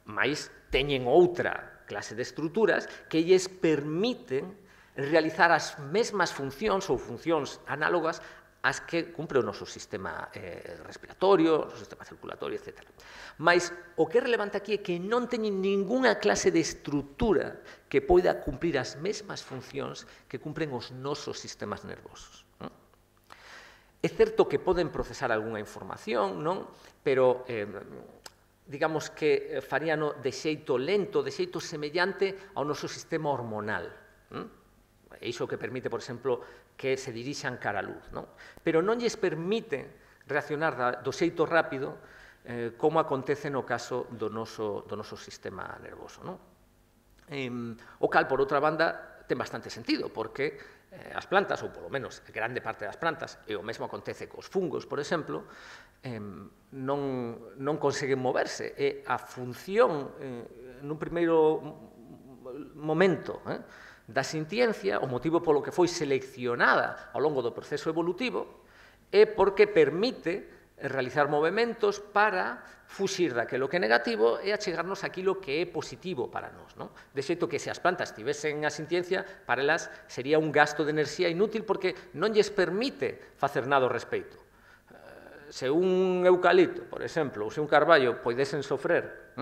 mas teñen outra clase de estruturas que lles permiten realizar as mesmas funcións ou funcións análogas as que cumpre o noso sistema respiratorio, o noso sistema circulatorio, etc. Mas o que é relevante aquí é que non teñen ningunha clase de estrutura que poida cumprir as mesmas funcións que cumpren os nosos sistemas nervosos. É certo que poden procesar algunha información, non? Pero digamos que faríano de xeito lento, de xeito semellante ao noso sistema hormonal. É iso que permite, por exemplo, que se dirixan cara a luz. Pero non lles permite reaccionar do xeito rápido como acontece no caso do noso sistema nervoso. O cal, por outra banda, ten bastante sentido, porque as plantas, ou polo menos grande parte das plantas, e o mesmo acontece cos fungos, por exemplo, non conseguen moverse. E a función, nun primeiro momento, da sintiencia, o motivo polo que foi seleccionada ao longo do proceso evolutivo, é porque permite realizar movementos para fuxir daquilo que é negativo e achegarnos aquilo que é positivo para nós. De xeito que se as plantas tivesen a sintiencia, para elas sería un gasto de enerxía inútil porque non lles permite facer nada ao respecto. Se un eucalipto, por exemplo, ou se un carballo poidesen sofrer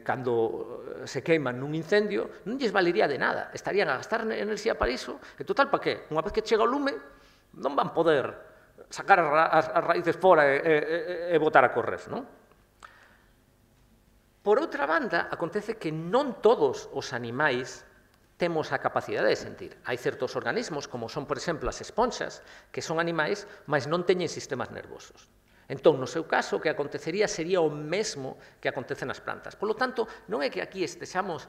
cando se queiman nun incendio, non lles valería de nada. Estarían a gastar enerxía para iso, e total, para que? Unha vez que chega o lume, non van poder sacar as raíces fora e botar a correr, non? Por outra banda, acontece que non todos os animais temos a capacidade de sentir. Hai certos organismos, como son, por exemplo, as esponxas, que son animais, mas non teñen sistemas nervosos. Entón, no seu caso, o que acontecería sería o mesmo que acontece nas plantas. Por lo tanto, non é que aquí estexamos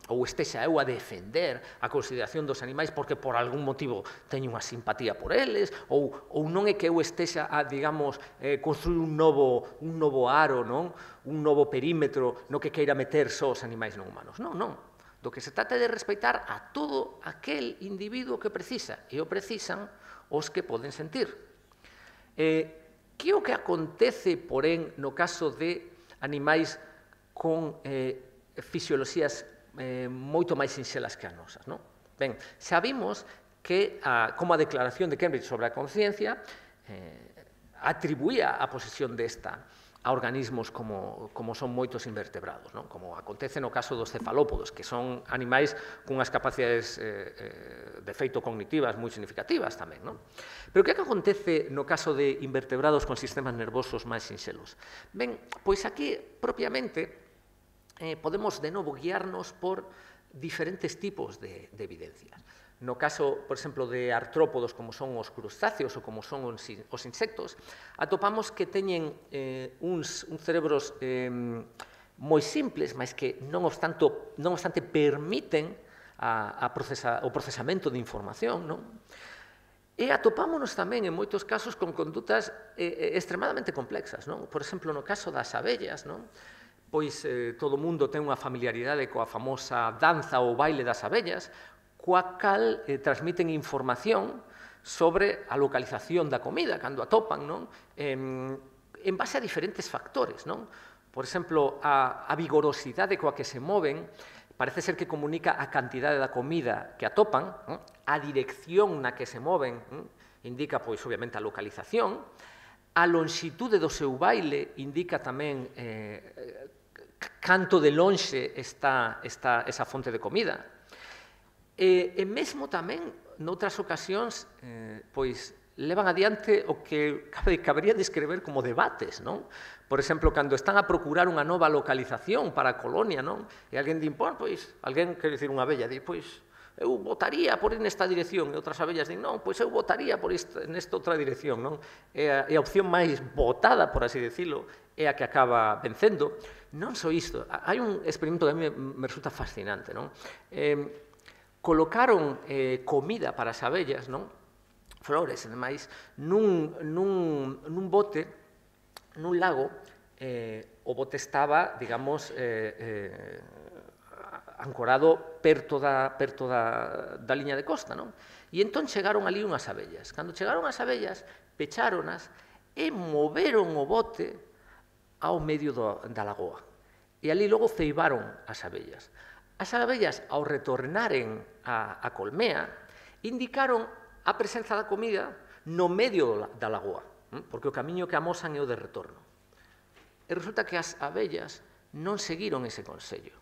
ou estexa eu a defender a consideración dos animais porque por algún motivo teño unha simpatía por eles, ou non é que eu estexa a, digamos, construir un novo aro, non? Un novo perímetro no que queira meter só os animais non humanos. Non, non. Do que se trata de respeitar a todo aquel individuo que precisa, e o precisan os que poden sentir. Que é o que acontece, porén, no caso de animais con fisioloxías moito máis sinxelas que as nosas, non? Ben, xa vimos que, como a Declaración de Cambridge sobre a conciencia, atribuía a posesión desta a organismos como son moitos invertebrados, non? Como acontece no caso dos cefalópodos, que son animais cunhas capacidades de feito cognitivas moi significativas tamén, non? Pero que acontece no caso de invertebrados con sistemas nervosos máis sinxelos? Ben, pois aquí, propiamente, podemos de novo guiarnos por diferentes tipos de evidencias. No caso, por exemplo, de artrópodos como son os crustáceos ou como son os insectos, atopamos que teñen uns cerebros moi simples, mas que non obstante permiten o procesamento de información, non? E atopámonos tamén en moitos casos con condutas extremadamente complexas, non? Por exemplo, no caso das abellas, non? Pois todo o mundo ten unha familiaridade coa famosa danza ou baile das abellas, coa cal transmiten información sobre a localización da comida, cando atopan, non? En base a diferentes factores, non? Por exemplo, a vigorosidade coa que se moven parece ser que comunica a cantidade da comida que atopan, non? A dirección na que se moven indica, pois, obviamente, a localización, a lonxitude do seu baile indica tamén canto de lonxe está esa fonte de comida. E mesmo tamén, noutras ocasións, pois, levan adiante o que cabería descrever como debates, non? Por exemplo, cando están a procurar unha nova localización para a colonia, non? E alguén di, pois, alguén, quer dicir, unha abella, di, pois, eu votaría por ir nesta dirección, e outras abellas din, non, pois eu votaría por nesta outra dirección, non? E a opción máis votada, por así decirlo, é a que acaba vencendo. Non só isto, hai un experimento que a mí me resulta fascinante, non? Colocaron comida para as abellas, non? Flores, ademais, nun bote, nun lago, o bote estaba, digamos, ancorado perto da liña de costa, non? E entón chegaron ali unhas abellas. Cando chegaron as abellas, pecháronas e moveron o bote ao medio da lagoa. E ali logo ceibaron as abellas. As abellas, ao retornaren a colmea, indicaron a presenza da comida no medio da lagoa, porque o camiño que amosan é o de retorno. E resulta que as abellas non seguiron ese consello,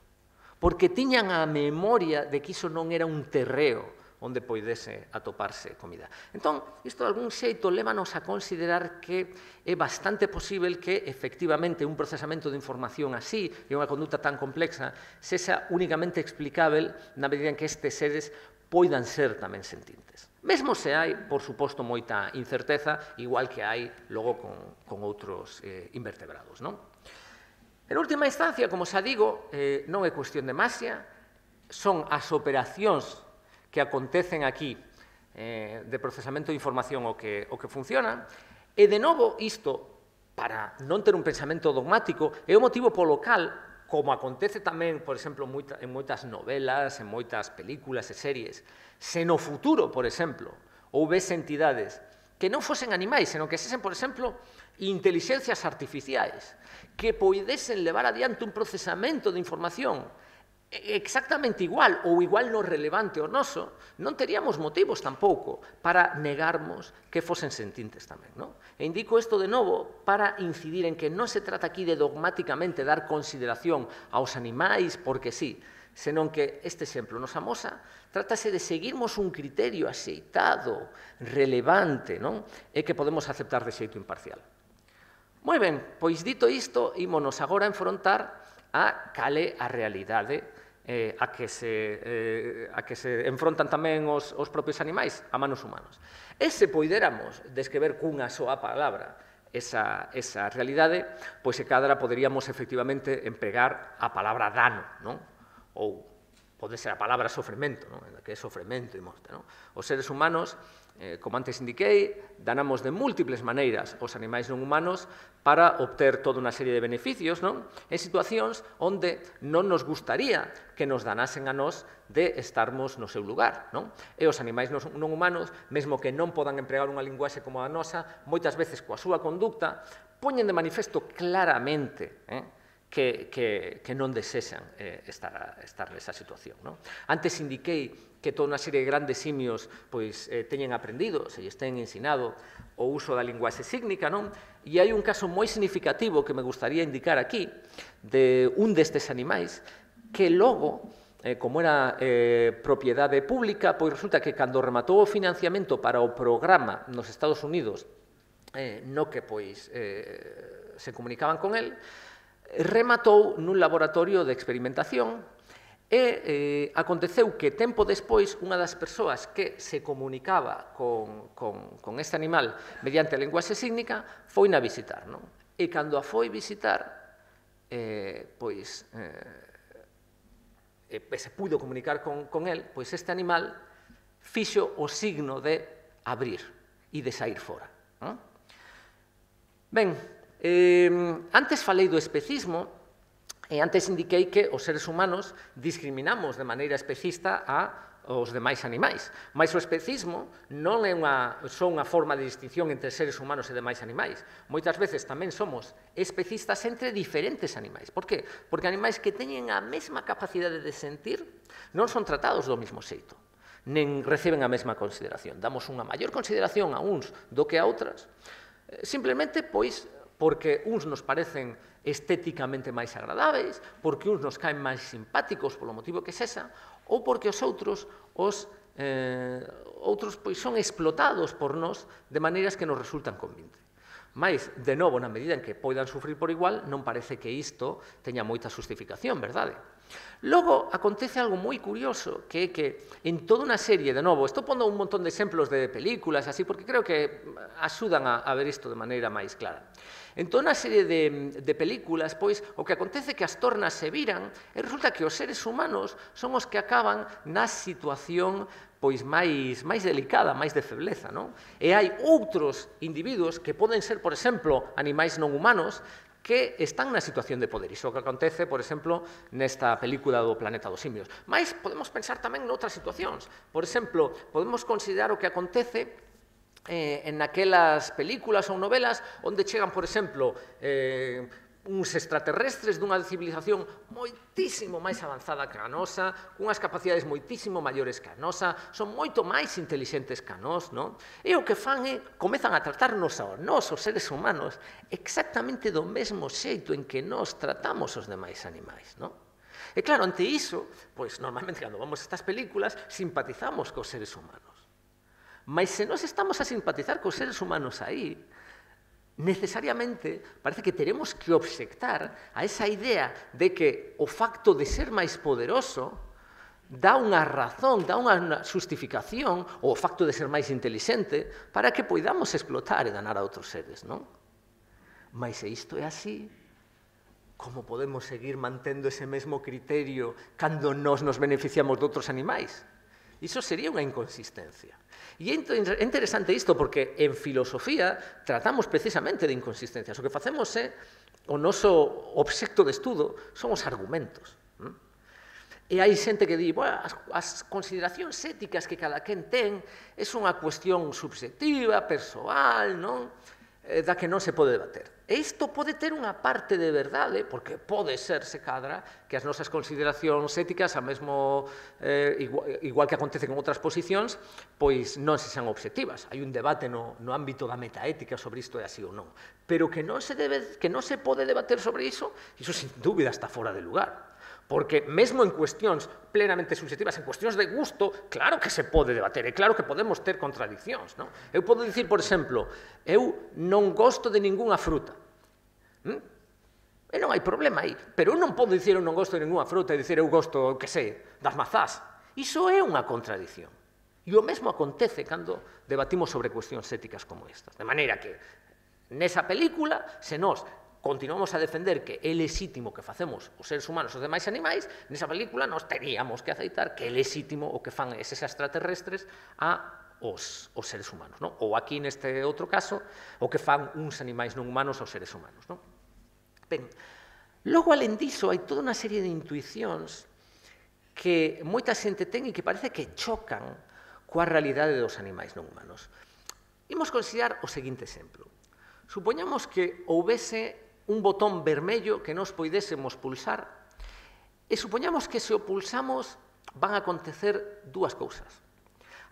porque tiñan a memoria de que iso non era un terreo onde poidese atoparse comida. Entón, isto de algún xeito lévanos a considerar que é bastante posible que, efectivamente, un procesamento de información así e unha conduta tan complexa sexa únicamente explicável na medida en que estes seres poidan ser tamén sentintes. Mesmo se hai, por suposto, moita incerteza, igual que hai logo con outros invertebrados, non? En última instancia, como xa digo, non é cuestión de maxia, son as operacións que acontecen aquí de procesamento de información o que funciona, e de novo isto, para non ter un pensamento dogmático, é o motivo polo cal, como acontece tamén, por exemplo, en moitas novelas, en moitas películas e series, se no futuro, por exemplo, houvese entidades que non fosen animais, senón que sesen, por exemplo, intelixencias artificiais, que poidesen levar adiante un procesamento de información exactamente igual ou igual no relevante ao noso, non teríamos motivos tampouco para negarmos que fosen sentintes tamén, non? E indico isto de novo para incidir en que non se trata aquí de dogmáticamente dar consideración aos animais porque sí, senón que este exemplo nos amosa, trátase de seguirmos un criterio axeitado, relevante, non? E que podemos aceptar de xeito imparcial. Moi ben, pois dito isto, ímonos agora a enfrontar a cale a realidade a que se enfrontan tamén os propios animais a manos humanos. E se poidéramos descrever cunha soa palabra esa realidade, pois se cadra poderíamos efectivamente empregar a palabra dano, non? Ou pode ser a palabra sofrimento, non? Que é sofrimento e morte, non? Os seres humanos, como antes indiquei, danamos de múltiples maneiras aos animais non humanos para obter toda unha serie de beneficios, non? En situacións onde non nos gustaría que nos danasen a nós de estarmos no seu lugar, non? E os animais non humanos, mesmo que non podan empregar unha linguaxe como a nosa, moitas veces coa súa conducta, poñen de manifesto claramente que non desexan estar nesa situación, non? Antes indiquei que toda unha serie de grandes simios teñen aprendido, se lles ten ensinado o uso da linguaxe sígnica, non? E hai un caso moi significativo que me gustaría indicar aquí de un destes animais que logo, como era propiedade pública, pois resulta que cando rematou o financiamento para o programa nos Estados Unidos no que se comunicaban con el, rematou nun laboratorio de experimentación e aconteceu que tempo despois unha das persoas que se comunicaba con este animal mediante a linguaxe sígnica foi na visitar, non? E cando a foi visitar, se pudo comunicar con el, pois este animal fixo o signo de abrir e de sair fora. Ben, antes falei do especismo e antes indiquei que os seres humanos discriminamos de maneira especista aos demais animais. Mais o especismo non é só unha forma de distinción entre seres humanos e demais animais. Moitas veces tamén somos especistas entre diferentes animais. Por que? Porque animais que teñen a mesma capacidade de sentir non son tratados do mesmo xeito, nen reciben a mesma consideración. Damos unha maior consideración a uns do que a outras, simplemente porque uns nos parecen estéticamente máis agradáveis, porque uns nos caen máis simpáticos polo motivo que sexa, ou porque os outros son explotados por nós de maneiras que nos resultan convinte. Mais, de novo, na medida en que poidan sufrir por igual, non parece que isto teña moita justificación, verdade? Logo, acontece algo moi curioso, que é que en toda unha serie, de novo, estou pondo un montón de exemplos de películas, así, porque creo que axudan a ver isto de maneira máis clara. En toda unha serie de películas, pois, o que acontece é que as tornas se viran e resulta que os seres humanos son os que acaban na situación máis delicada, máis de febleza, non? E hai outros individuos que poden ser, por exemplo, animais non humanos, que están na situación de poder. Iso que acontece, por exemplo, nesta película do Planeta dos Simios. Mais podemos pensar tamén noutras situacións. Por exemplo, podemos considerar o que acontece en aquelas películas ou novelas onde chegan, por exemplo, uns extraterrestres dunha civilización moitísimo máis avanzada que a nosa, cunhas capacidades moitísimo maiores que a nosa, son moito máis intelixentes que a nós, non? E o que fan é, comezan a tratarnos a nós, os seres humanos, exactamente do mesmo xeito en que nós tratamos os demais animais, non? E claro, ante iso, pois normalmente cando vamos a estas películas, simpatizamos cos seres humanos. Mas se nós estamos a simpatizar cos seres humanos aí, necesariamente parece que teremos que obxectar a esa idea de que o facto de ser máis poderoso dá unha razón, dá unha justificación, ou o facto de ser máis intelixente, para que poidamos explotar e danar a outros seres, non? Mas se isto é así, como podemos seguir mantendo ese mesmo criterio cando nós nos beneficiamos de outros animais? Iso sería unha inconsistencia. E é interesante isto porque en filosofía tratamos precisamente de inconsistencias. O que facemos é, o noso obxecto de estudo son os argumentos. E hai xente que di, bueno, as consideracións éticas que cada quen ten é unha cuestión subxectiva, persoal, non? Da que non se pode debater. E isto pode ter unha parte de verdade, porque pode ser, se cadra, que as nosas consideracións éticas, a mesmo, igual que acontece con outras posicións, pois non se sean obxectivas. Hai un debate no ámbito da metaética sobre isto é así ou non. Pero que non se pode debater sobre iso sin dúbida está fora de lugar. Porque mesmo en cuestións plenamente subjetivas, en cuestións de gusto, claro que se pode debater, e claro que podemos ter contradiccións, non? Eu podo dicir, por exemplo, eu non gosto de ningunha fruta. E non hai problema aí, pero eu non podo dicir eu non gosto de ningunha fruta e dicir eu gosto, que sei, das mazás. Iso é unha contradicción. E o mesmo acontece cando debatimos sobre cuestións éticas como estas. De maneira que, nesa película, se nós continuamos a defender que é lexítimo que facemos os seres humanos os demais animais, nesa película nós teríamos que aceitar que é lexítimo o que fan eses extraterrestres aos seres humanos, non? Ou aquí, neste outro caso, o que fan uns animais non humanos aos seres humanos, non? Ben, logo, alén diso, hai toda unha serie de intuicións que moita xente ten e que parece que chocan coa realidade dos animais non humanos. Imos considerar o seguinte exemplo. Supoñamos que houvese un botón vermello que nos poidésemos pulsar e supoñamos que se o pulsamos van a acontecer dúas cousas.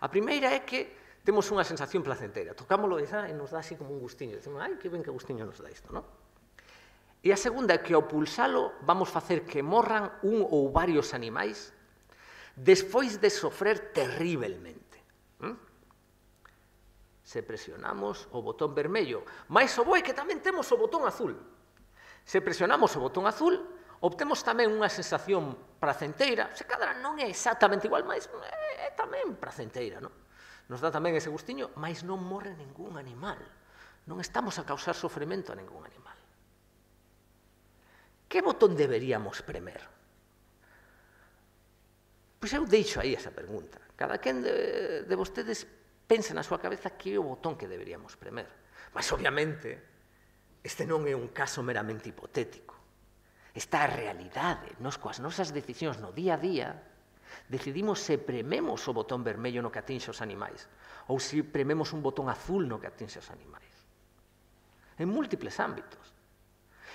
A primeira é que temos unha sensación placenteira. Tocámoslo e nos dá así como un gustiño. Dicimos, ai, que ben que gustiño nos dá isto, non? E a segunda é que ao pulsalo vamos facer que morran un ou varios animais despois de sofrer terriblemente. Se presionamos o botón vermello, máis o boi que tamén temos o botón azul. Se presionamos o botón azul, obtemos tamén unha sensación placenteira, se cadra non é exactamente igual, mas é tamén placenteira, non? Nos dá tamén ese gustiño, mas non morre ningún animal. Non estamos a causar sofrimento a ningún animal. Que botón deberíamos premer? Pois eu deixo aí esa pregunta. Cada quen de vostedes pensa na súa cabeza que é o botón que deberíamos premer. Mas, obviamente, este non é un caso meramente hipotético. Esta é a realidade. Nos, coas nosas decisións no día a día, decidimos se prememos o botón vermello no que atinxe os animais ou se prememos un botón azul no que atinxe os animais. En múltiples ámbitos.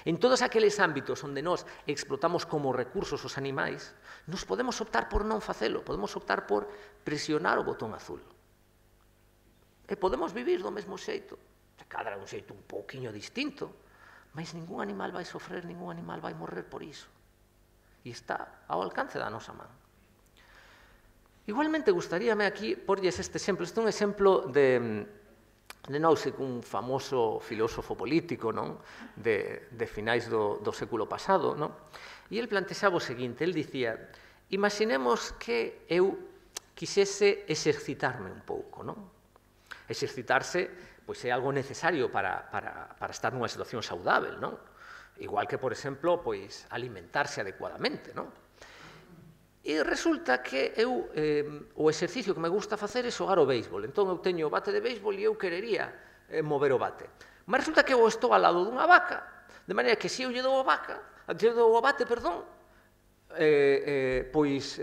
En todos aqueles ámbitos onde nós explotamos como recursos os animais, nos podemos optar por non facelo, podemos optar por presionar o botón azul. E podemos vivir do mesmo xeito, se cadra un xeito un pouquiño distinto, mas ningún animal vai sofrer, ningún animal vai morrer por iso. E está ao alcance da nosa man. Igualmente, gustaríame aquí porlles este exemplo. Este é un exemplo de Nozick, un famoso filósofo político, non? De finais do século pasado, non? E el plantexaba o seguinte, el dicía, imaginemos que eu quixese exercitarme un pouco, non? Exercitarse, pois, é algo necesario para estar nunha situación saudável, non? Igual que, por exemplo, pois, alimentarse adecuadamente, non? E resulta que eu, o exercicio que me gusta facer é xogar o béisbol. Entón, eu teño o bate de béisbol e eu querería mover o bate. Mas resulta que eu estou ao lado dunha vaca, de maneira que se eu lle dou o bate, pois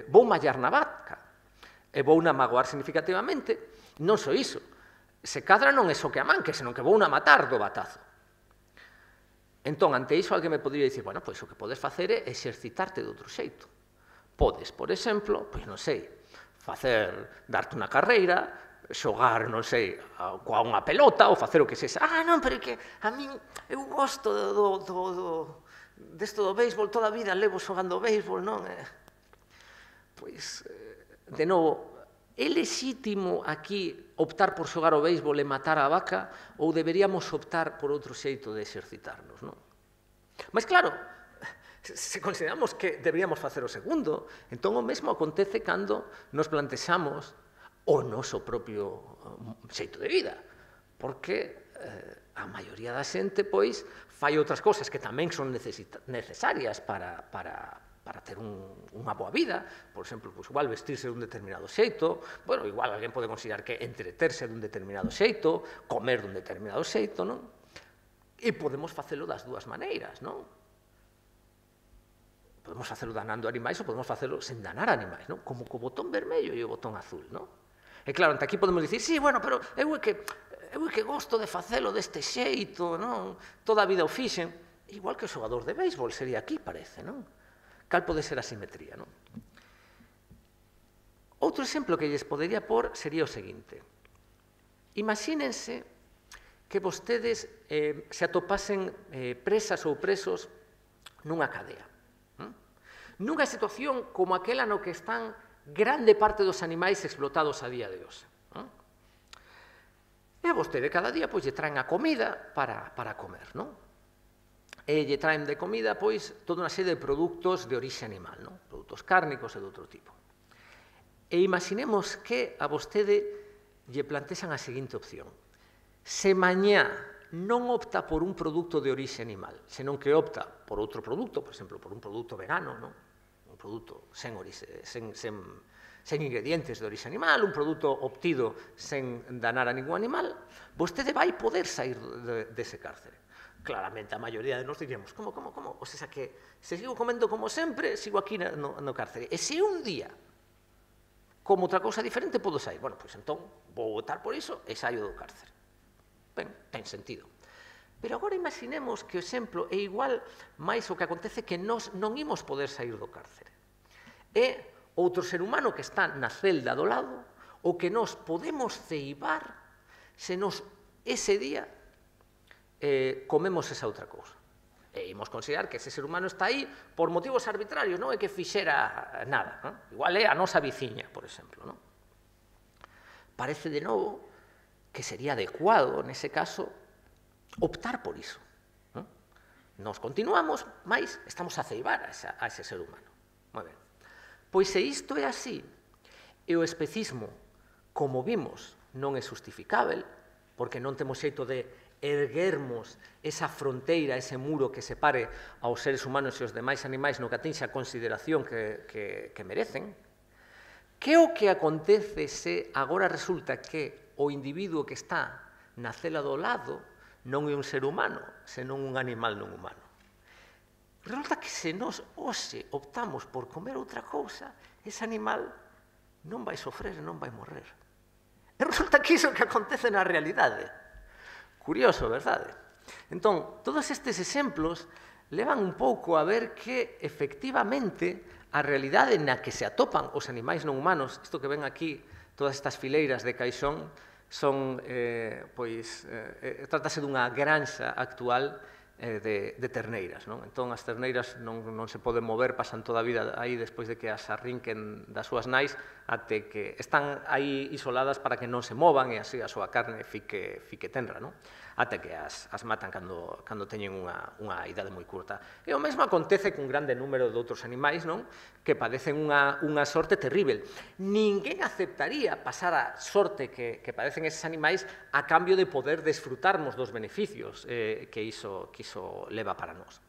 vou mallar na vaca e vou na magoar significativamente. Non só iso, se cadra non é só que a manque, senón que vou na matar do batazo. Entón, ante iso, alguén me podría dicir, bueno, pois o que podes facer é exercitarte de outro xeito. Podes, por exemplo, pois non sei, darte unha carreira, xogar, non sei, coa unha pelota ou facer o que sexa. Non, pero é que a min, eu gosto desto do béisbol, toda a vida levo xogando béisbol, non? Pois, de novo, é lexítimo aquí optar por xogar o béisbol e matar a vaca ou deberíamos optar por outro xeito de exercitarnos, non? Mas claro, se consideramos que deberíamos facer o segundo, entón o mesmo acontece cando nos plantexamos o noso propio xeito de vida, porque a maioría da xente, pois, fai outras cousas que tamén son necesarias para ter unha boa vida, por exemplo, pois, igual vestirse dun determinado xeito, bueno, igual alguén pode considerar que entreterse dun determinado xeito, comer dun determinado xeito, non? E podemos facelo das dúas maneiras, non? Podemos facelo danando animais ou podemos facelo sen danar animais, non? Como co botón vermello e o botón azul, non? E claro, ante aquí podemos dicir, sí, bueno, pero eu é que gosto de facelo deste xeito, non? Toda a vida o fixen. Igual que o xogador de béisbol sería aquí, parece, non? Cal pode ser a simetría, non? Outro exemplo que lles podería pôr sería o seguinte. Imagínense que vostedes se atopasen presas ou presos nunha cadea. Nunha situación como aquela no que están grande parte dos animais explotados a día de hoxe. E a vostede cada día lle traen a comida para comer, non? E lle traen de comida toda unha serie de produtos de orixe animal, non? Produtos cárnicos e de outro tipo. E imaginemos que a vostede lle plantexan a seguinte opción. Se mañá non opta por un produto de orixe animal, senón que opta por outro produto, por exemplo, por un produto vegano, non? Un produto sen ingredientes de orixe animal, un produto obtido sen danar a ningún animal, vostede vai poder sair dese cárcere. Claramente, a maioría de nós diríamos, como? O sea que, se sigo comendo como sempre, sigo aquí no cárcere. E se un día, como outra cousa diferente, podo sair. Bueno, pois entón, vou votar por iso e saio do cárcere. Ben, ten sentido. Pero agora imaginemos que o exemplo é igual, máis o que acontece que nós non imos poder sair do cárcere. É outro ser humano que está na celda do lado, o que nós podemos ceibar se nos ese día comemos esa outra cousa. E imos considerar que ese ser humano está aí por motivos arbitrarios, non é que fixera nada. Non? Igual é a nosa viciña, por exemplo. Non? Parece de novo que sería adecuado, nese caso, optar por iso. Non? Nos continuamos, mas estamos a ceibar a ese ser humano. Moi ben. Pois se isto é así, e o especismo, como vimos, non é justificável, porque non temos xeito de erguermos esa fronteira, ese muro que separe aos seres humanos e os demais animais no que atinxe a consideración que merecen, que o que acontece se agora resulta que o individuo que está na cela do lado non é un ser humano, senón un animal non humano? Resulta que se nós hoxe optamos por comer outra cousa, ese animal non vai sofrer e non vai morrer. E resulta que iso que acontece na realidade. Curioso, verdade? Entón, todos estes exemplos levan un pouco a ver que, efectivamente, a realidade na que se atopan os animais non humanos, isto que ven aquí, todas estas fileiras de caixón, son, trátase dunha granxa actual de terneiras, non? Entón, as terneiras non se poden mover, pasan toda a vida aí despois de que as arrinquen das súas nais, até que están aí isoladas para que non se movan e así a súa carne fique tenra, non? Até que as matan cando teñen unha idade moi curta. E o mesmo acontece cun grande número de outros animais, non? Que padecen unha sorte terrible. Ninguén aceptaría pasar a sorte que padecen eses animais a cambio de poder desfrutarmos dos beneficios que iso leva para nós.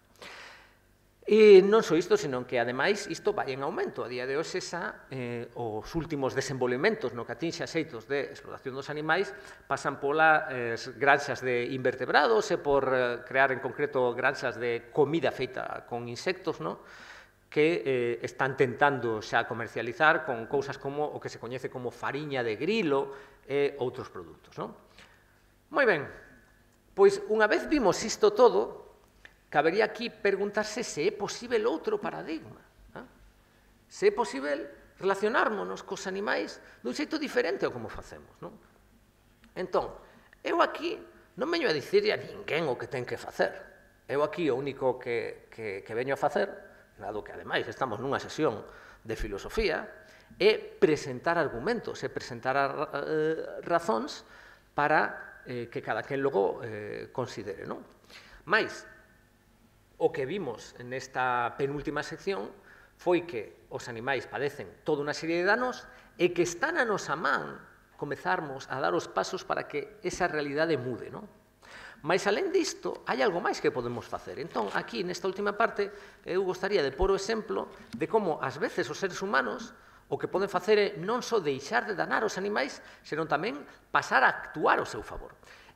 E non só isto, senón que, ademais, isto vai en aumento. A día de hoxe xa, os últimos desenvolvementos no que atinxe a xeitos de explotación dos animais pasan polas granxas de invertebrados e por crear, en concreto, granxas de comida feita con insectos, non? Que están tentando xa comercializar con cousas como o que se coñece como fariña de grilo e outros produtos, non? Moi ben, pois unha vez vimos isto todo, cabería aquí preguntarse se é posible outro paradigma. Se é posible relacionármonos cos animais dun xeito diferente ao como facemos. Non? Entón, eu aquí non veño a dicirle a ninguén o que ten que facer. Eu aquí o único que veño a facer, dado que ademais estamos nunha sesión de filosofía, é presentar argumentos, é presentar razóns para que cada quen logo considere. Non? Mais, o que vimos nesta penúltima sección foi que os animais padecen toda unha serie de danos e que está na nosa man comezarmos a dar os pasos para que esa realidade mude, non? Mais, alén disto, hai algo máis que podemos facer. Entón, aquí, nesta última parte, eu gostaría de pôr o exemplo de como, ás veces, os seres humanos o que poden facer é non só deixar de danar os animais, senón tamén pasar a actuar ao seu favor.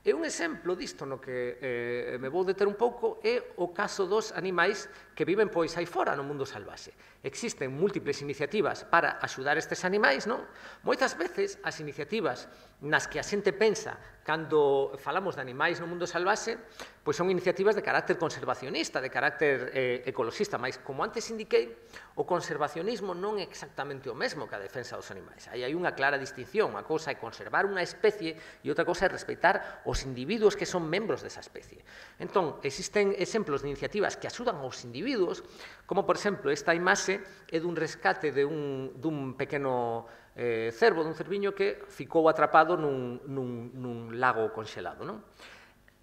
E un exemplo disto no que me vou deter un pouco é o caso dos animais que viven pois aí fora no mundo salvaxe. Existen múltiples iniciativas para axudar estes animais, non? Moitas veces as iniciativas nas que a xente pensa cando falamos de animais no mundo salvaxe, pois son iniciativas de carácter conservacionista, de carácter ecoloxista, mas como antes indiquei, o conservacionismo non é exactamente o mesmo que a defensa dos animais. Aí hai unha clara distinción, unha cousa é conservar unha especie e outra cousa é respeitar os individuos que son membros desa especie. Entón, existen exemplos de iniciativas que axudan aos individuos, como, por exemplo, esta imaxe é dun rescate dun pequeno cervo, dun cerviño que ficou atrapado nun lago conxelado, non?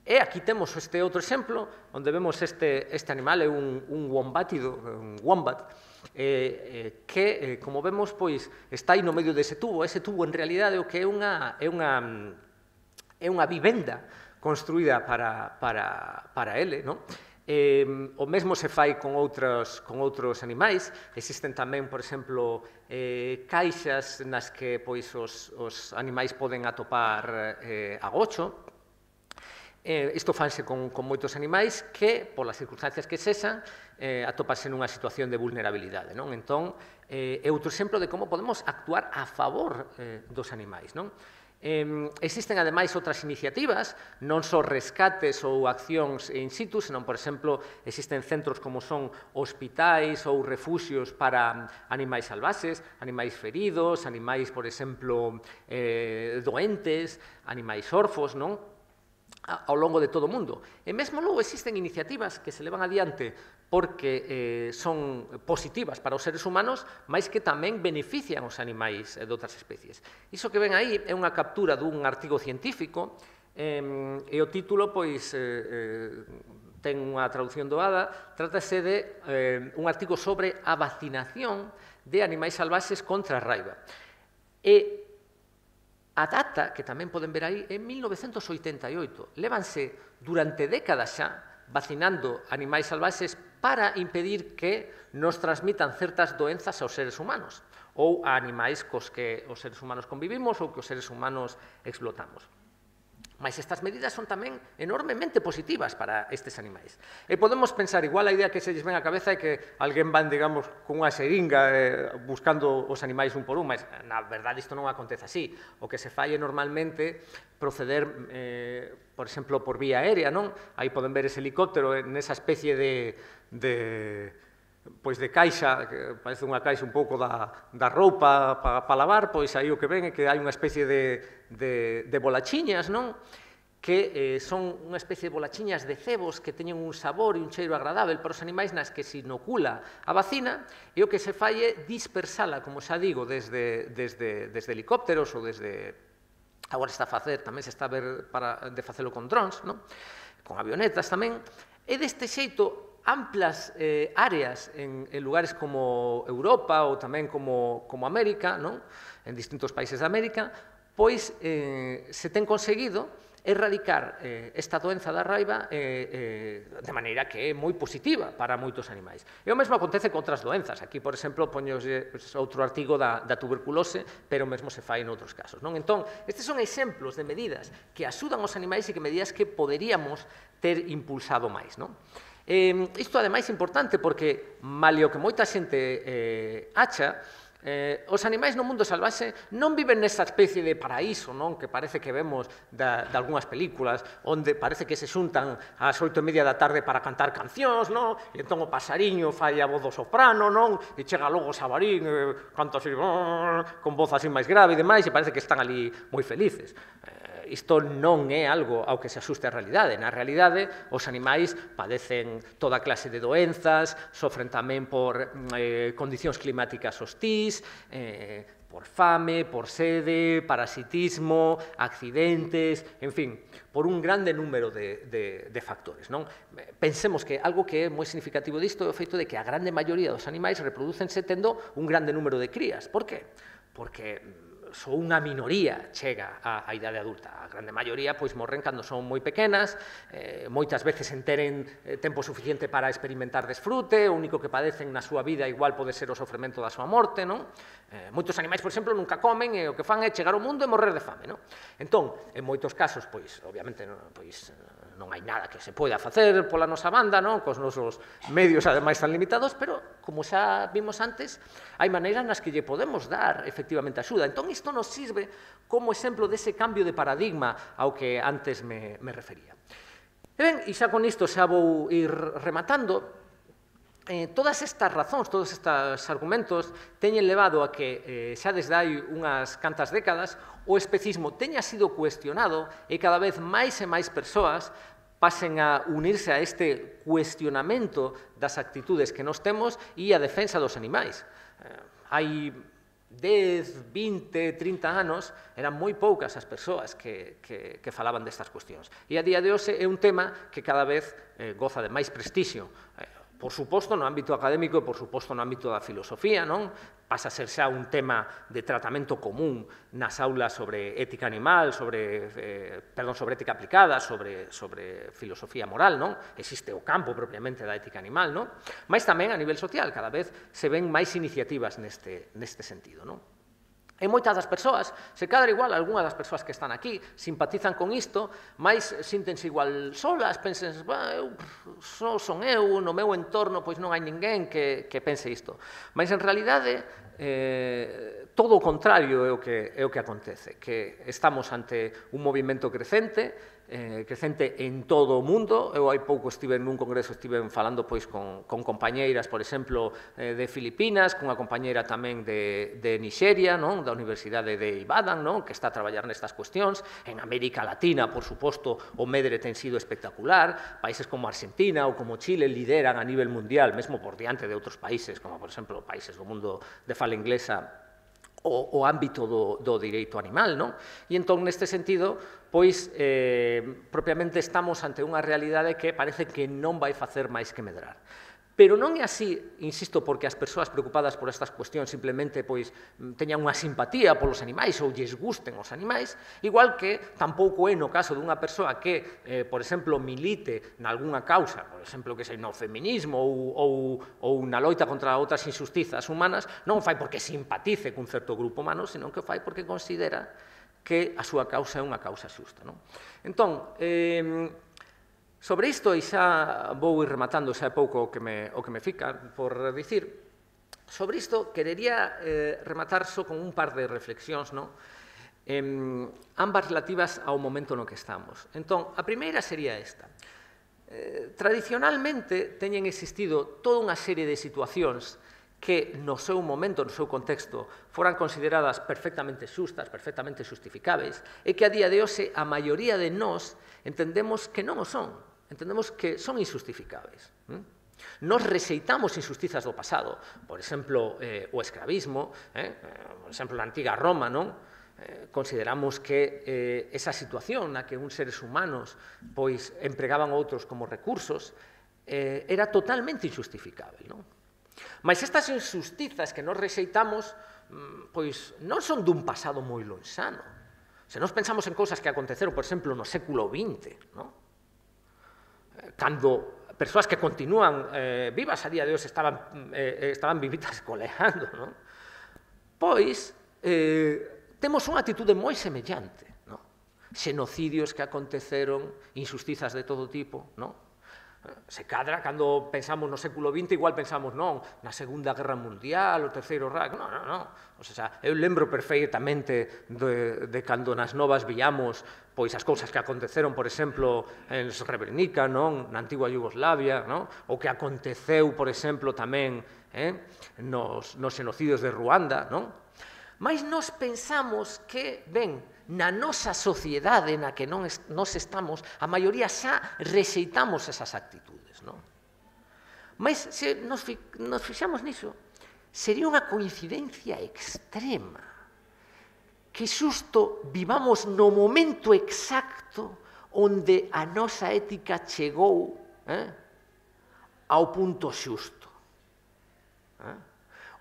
E aquí temos este outro exemplo, onde vemos este animal, é un wombatido, un wombat, que, como vemos, pois, está aí no medio dese tubo. Ese tubo, en realidade, o que é unha vivenda construída para ele, non? O mesmo se fai con outros animais. Existen tamén, por exemplo, caixas nas que os animais poden atopar agocho. Isto fanse con moitos animais que, polas circunstancias que sexan, atopanse nunha situación de vulnerabilidade, non? Entón, é outro exemplo de como podemos actuar a favor dos animais, non? Existen, ademais, outras iniciativas, non só rescates ou accións in situ, senón, por exemplo, existen centros como son hospitais ou refuxios para animais salvaxes, animais feridos, animais, por exemplo, doentes, animais orfos, non? Ao longo de todo o mundo. E mesmo logo existen iniciativas que se levan adiante porque son positivas para os seres humanos, mas que tamén benefician os animais de outras especies. Iso que ven aí é unha captura dun artigo científico e o título, pois, ten unha traducción doada, trátase de un artigo sobre a vacinación de animais salvaxes contra a raiva. E a data, que tamén poden ver aí, é 1988. Lévanse durante décadas xa vacinando animais salvaxes para impedir que nos transmitan certas doenzas aos seres humanos ou a animais cos que os seres humanos convivimos ou que os seres humanos explotamos. Mas estas medidas son tamén enormemente positivas para estes animais. E podemos pensar, igual a idea que se lles ven á cabeza é que alguén van, digamos, con unha seringa buscando os animais un por un, mas na verdade isto non acontece así. O que se fai é normalmente proceder, por exemplo, por vía aérea, non? Aí poden ver ese helicóptero nesa especie de caixa, que parece unha caixa un pouco da roupa para lavar, pois aí o que ven é que hai unha especie de bolachiñas, non? Que son unha especie de bolachiñas de cebos que teñen un sabor e un cheiro agradável para os animais nas que se inocula a vacina, e o que se fai é dispersala, como xa digo, desde helicópteros ou desde... Agora está a facer, tamén se está a ver de facelo con drons, non? Con avionetas tamén, e deste xeito amplas áreas en lugares como Europa ou tamén como América, non? En distintos países de América, pois se ten conseguido erradicar esta doenza da raiva de maneira que é moi positiva para moitos animais. E o mesmo acontece con outras doenzas. Aquí, por exemplo, poños outro artigo da tuberculose, pero mesmo se fai en outros casos, non? Entón, estes son exemplos de medidas que axudan aos animais e que medidas que poderíamos ter impulsado máis, non? Isto, ademais, é importante porque, malio que moita xente acha, os animais no mundo salvaxe non viven nesa especie de paraíso, non? Que parece que vemos de algunhas películas, onde parece que se xuntan ás 8:30 da tarde para cantar cancións, non? E entón o pasariño fai a voz do soprano, non? E chega logo o xabarín, canta así, con voz así máis grave e demais, e parece que están ali moi felices. Isto non é algo ao que se asuste a realidade. Na realidade, os animais padecen toda clase de doenzas, sofren tamén por condicións climáticas hostís, por fame, por sede, parasitismo, accidentes, en fin, por un grande número de factores, non? Pensemos que algo que é moi significativo disto é o feito de que a grande maioría dos animais reprodúcense tendo un grande número de crías. Por qué? Porque só unha minoría chega á idade adulta. A grande maioría pois morren cando son moi pequenas, moitas veces sen teren tempo suficiente para experimentar desfrute, o único que padecen na súa vida igual pode ser o sofrimento da súa morte, non? Moitos animais, por exemplo, nunca comen e o que fan é chegar ao mundo e morrer de fame, non? Entón, en moitos casos, pois, obviamente, non hai nada que se poida facer pola nosa banda, non? Cos nosos medios, ademais, tan limitados, pero, como xa vimos antes, hai maneiras nas que lle podemos dar, efectivamente, axuda. Entón, isto nos sirve como exemplo dese cambio de paradigma ao que antes me refería. E ben, e xa con isto xa vou ir rematando. Todas estas razóns, todos estes argumentos teñen levado a que xa desde hai unhas cantas décadas o especismo teña sido cuestionado e cada vez máis e máis persoas pasen a unirse a este cuestionamento das actitudes que nos temos e a defensa dos animais. Hai 10, 20, 30 anos, eran moi poucas as persoas que falaban destas cuestións. E a día de hoxe é un tema que cada vez goza de máis prestixio. Por suposto, no ámbito académico e, por suposto, no ámbito da filosofía, non? Pasa a ser xa un tema de tratamento común nas aulas sobre ética animal, sobre ética aplicada, sobre filosofía moral, non? Existe o campo propiamente da ética animal, non? Mas tamén a nivel social, cada vez se ven máis iniciativas neste sentido, non? E moitas das persoas, se cadra igual, algunhas das persoas que están aquí simpatizan con isto, mais síntense igual solas, pensen, só son eu, no meu entorno, pois non hai ninguén que pense isto. Mas, en realidade, todo o contrario é o que acontece, que estamos ante un movimento crecente en todo o mundo. Eu hai pouco estive nun congreso, estive falando pois con compañeiras, por exemplo, de Filipinas, cunha compañeira tamén de Nixeria, non? Da Universidade de Ibadan, non? Que está a traballar nestas cuestións. En América Latina, por suposto, o medre ten sido espectacular. Países como Argentina ou como Chile lideran a nivel mundial, mesmo por diante de outros países, como, por exemplo, países do mundo de fala inglesa, o ámbito do direito animal, non? E entón, neste sentido, pois, propiamente estamos ante unha realidade que parece que non vai facer máis que medrar. Pero non é así, insisto, porque as persoas preocupadas por estas cuestións simplemente pois teñan unha simpatía polos animais ou lles gusten os animais, igual que tampouco é no caso dunha persoa que, por exemplo, milite nalgúnha causa, por exemplo, que sei, no feminismo ou na loita contra outras injustizas humanas, non fai porque simpatice cun certo grupo humano, senón que fai porque considera que a súa causa é unha causa xusta, non? Entón, sobre isto, e xa vou ir rematando, xa é pouco o que me fica por dicir, sobre isto querería rematar só con un par de reflexións, non? Ambas relativas ao momento no que estamos. Entón, a primeira sería esta. Tradicionalmente teñen existido toda unha serie de situacións que no seu momento, no seu contexto, foran consideradas perfectamente xustas, perfectamente justificáveis, e que a día de hoxe a maioría de nós entendemos que non o son. Entendemos que son injustificáveis. Nos rexeitamos injustizas do pasado, por exemplo, o escravismo, por exemplo, na antiga Roma, non? Consideramos que esa situación na que uns seres humanos pois empregaban outros como recursos era totalmente injustificável, non? Mas estas injustizas que nos rexeitamos pois non son dun pasado moi lonxano. Se nos pensamos en cousas que aconteceron, por exemplo, no século XX, non? Cando persoas que continúan vivas a día de hoxe estaban vivitas coleando, non? Pois temos unha atitude moi semellante, non? Xenocidios que aconteceron, injustizas de todo tipo, non? Se cadra, cando pensamos no século XX, igual pensamos, non, na Segunda Guerra Mundial, o Terceiro Reich, non. O sea, eu lembro perfeitamente de cando nas novas víamos pois as cousas que aconteceron, por exemplo, en Srebrenica, non, na antigua Yugoslavia, non, o que aconteceu, por exemplo, tamén nos xenocidios de Ruanda, non? Mas nós pensamos que, ben, na nosa sociedade na que nós estamos, a maioría xa rexeitamos esas actitudes, non? Mas se nos fixamos niso, sería unha coincidencia extrema que xusto vivamos no momento exacto onde a nosa ética chegou ao punto xusto.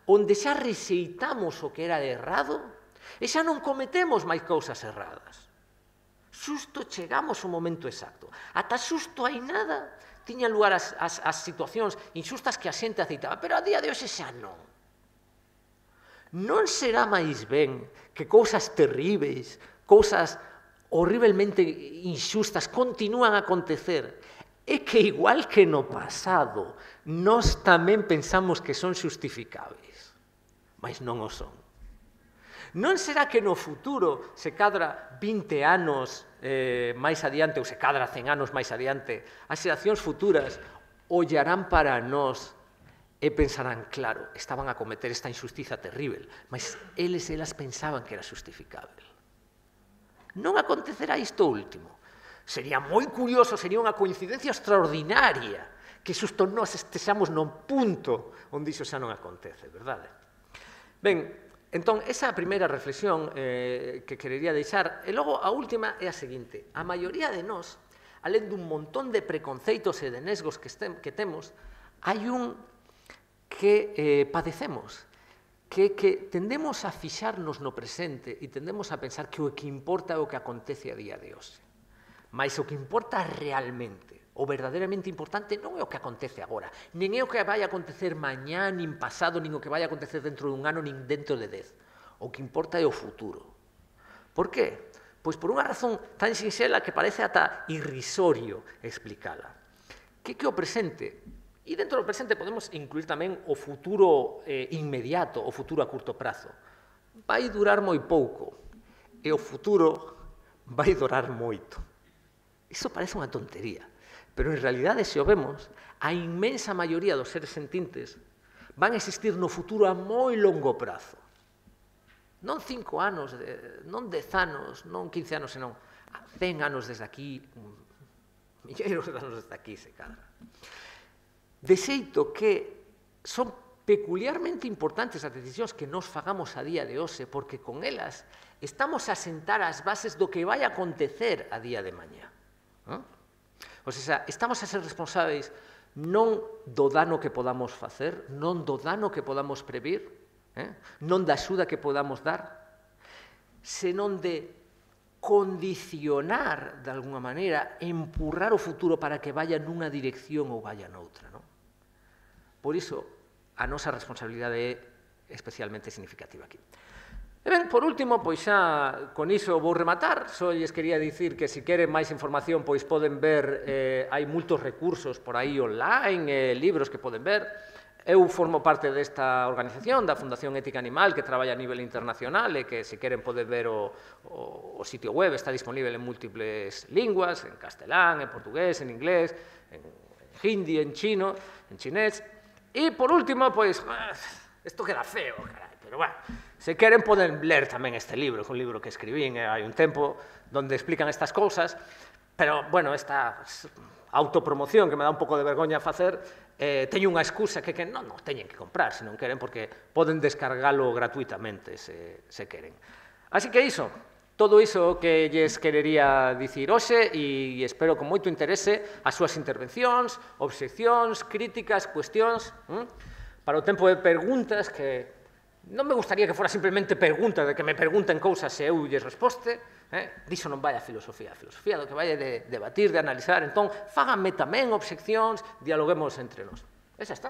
Onde xa rexeitamos o que era errado E xa non cometemos máis cousas erradas. Xusto chegamos ao momento exacto. Ata xusto hai nada tiñan lugar as situacións inxustas que a xente aceitaba, pero a día de hoxe xa non. Non será máis ben que cousas terríveis, cousas horriblemente inxustas continúan a acontecer, e que igual que no pasado, nós tamén pensamos que son xustificables, mas non o son. Non será que no futuro, se cadra 20 anos máis adiante, ou se cadra 100 anos máis adiante, as xeracións futuras ollarán para nós e pensarán, claro, estaban a cometer esta injustiza terrível, mas eles e elas pensaban que era justificável. Non acontecerá isto último. Sería moi curioso, sería unha coincidencia extraordinaria que xusto nós estexamos non punto onde iso xa non acontece, verdade? Ben, entón, esa é a primeira reflexión que querería deixar. E logo, a última é a seguinte. A maioría de nós, alén dun montón de preconceitos e de nesgos que temos, hai un que padecemos, que tendemos a fixarnos no presente e tendemos a pensar que o que importa é o que acontece a día de hoxe. Mas o que importa realmente, o verdadeiramente importante, non é o que acontece agora, nin é o que vai acontecer mañá, nin pasado, nin o que vai acontecer dentro dun ano, nin dentro de 10. O que importa é o futuro. Por qué? Pois por unha razón tan sinxela que parece ata irrisorio explicala. Que o presente, e dentro do presente podemos incluir tamén o futuro inmediato, o futuro a curto prazo, vai durar moi pouco, e o futuro vai durar moito. Iso parece unha tontería, pero en realidade, se o vemos, a inmensa maioría dos seres sentintes van a existir no futuro a moi longo prazo. Non 5 anos, non 10 anos, non 15 anos, senón 100 anos desde aquí, milleiros de anos desde aquí, se cadra. De xeito que son peculiarmente importantes as decisións que nos fagamos a día de hoxe, porque con elas estamos a sentar as bases do que vai acontecer a día de mañá. O sea, estamos a ser responsáveis non do dano que podamos facer, non do dano que podamos previr, non da axuda que podamos dar, senón de condicionar, de alguna maneira, empurrar o futuro para que vaya nunha dirección ou vaya noutra. Por iso, a nosa responsabilidade é especialmente significativa aquí. E ben, por último, pois xa con iso vou rematar. Só lles quería dicir que se queren máis información, pois poden ver, hai moitos recursos por aí online, libros que poden ver. Eu formo parte desta organización, da Fundación Ética Animal, que traballa a nivel internacional e que se queren poder ver o sitio web, está disponível en múltiples linguas, en castelán, en portugués, en inglés, en hindi, en chino, en chinés. E, por último, pois, isto queda feo, carai, pero bueno, se queren poden ler tamén este libro, que é un libro que escribín hai un tempo, onde explican estas cousas, pero, bueno, esta autopromoción que me dá un pouco de vergoña facer, teño unha excusa que non teñen que comprar, se non queren, porque poden descargalo gratuitamente, se queren. Así que iso, todo iso que lles querería dicir hoxe, e espero con moito interese as súas intervencións, obxeccións, críticas, cuestións, para o tempo de preguntas, que non me gustaría que fora simplemente pregunta, de que me pregunten cousas e eu lles resposte, diso non vai a filosofía do que vai é de debatir, de analizar, entón, fáganme tamén obxeccións, dialoguemos entre nós. E xa está.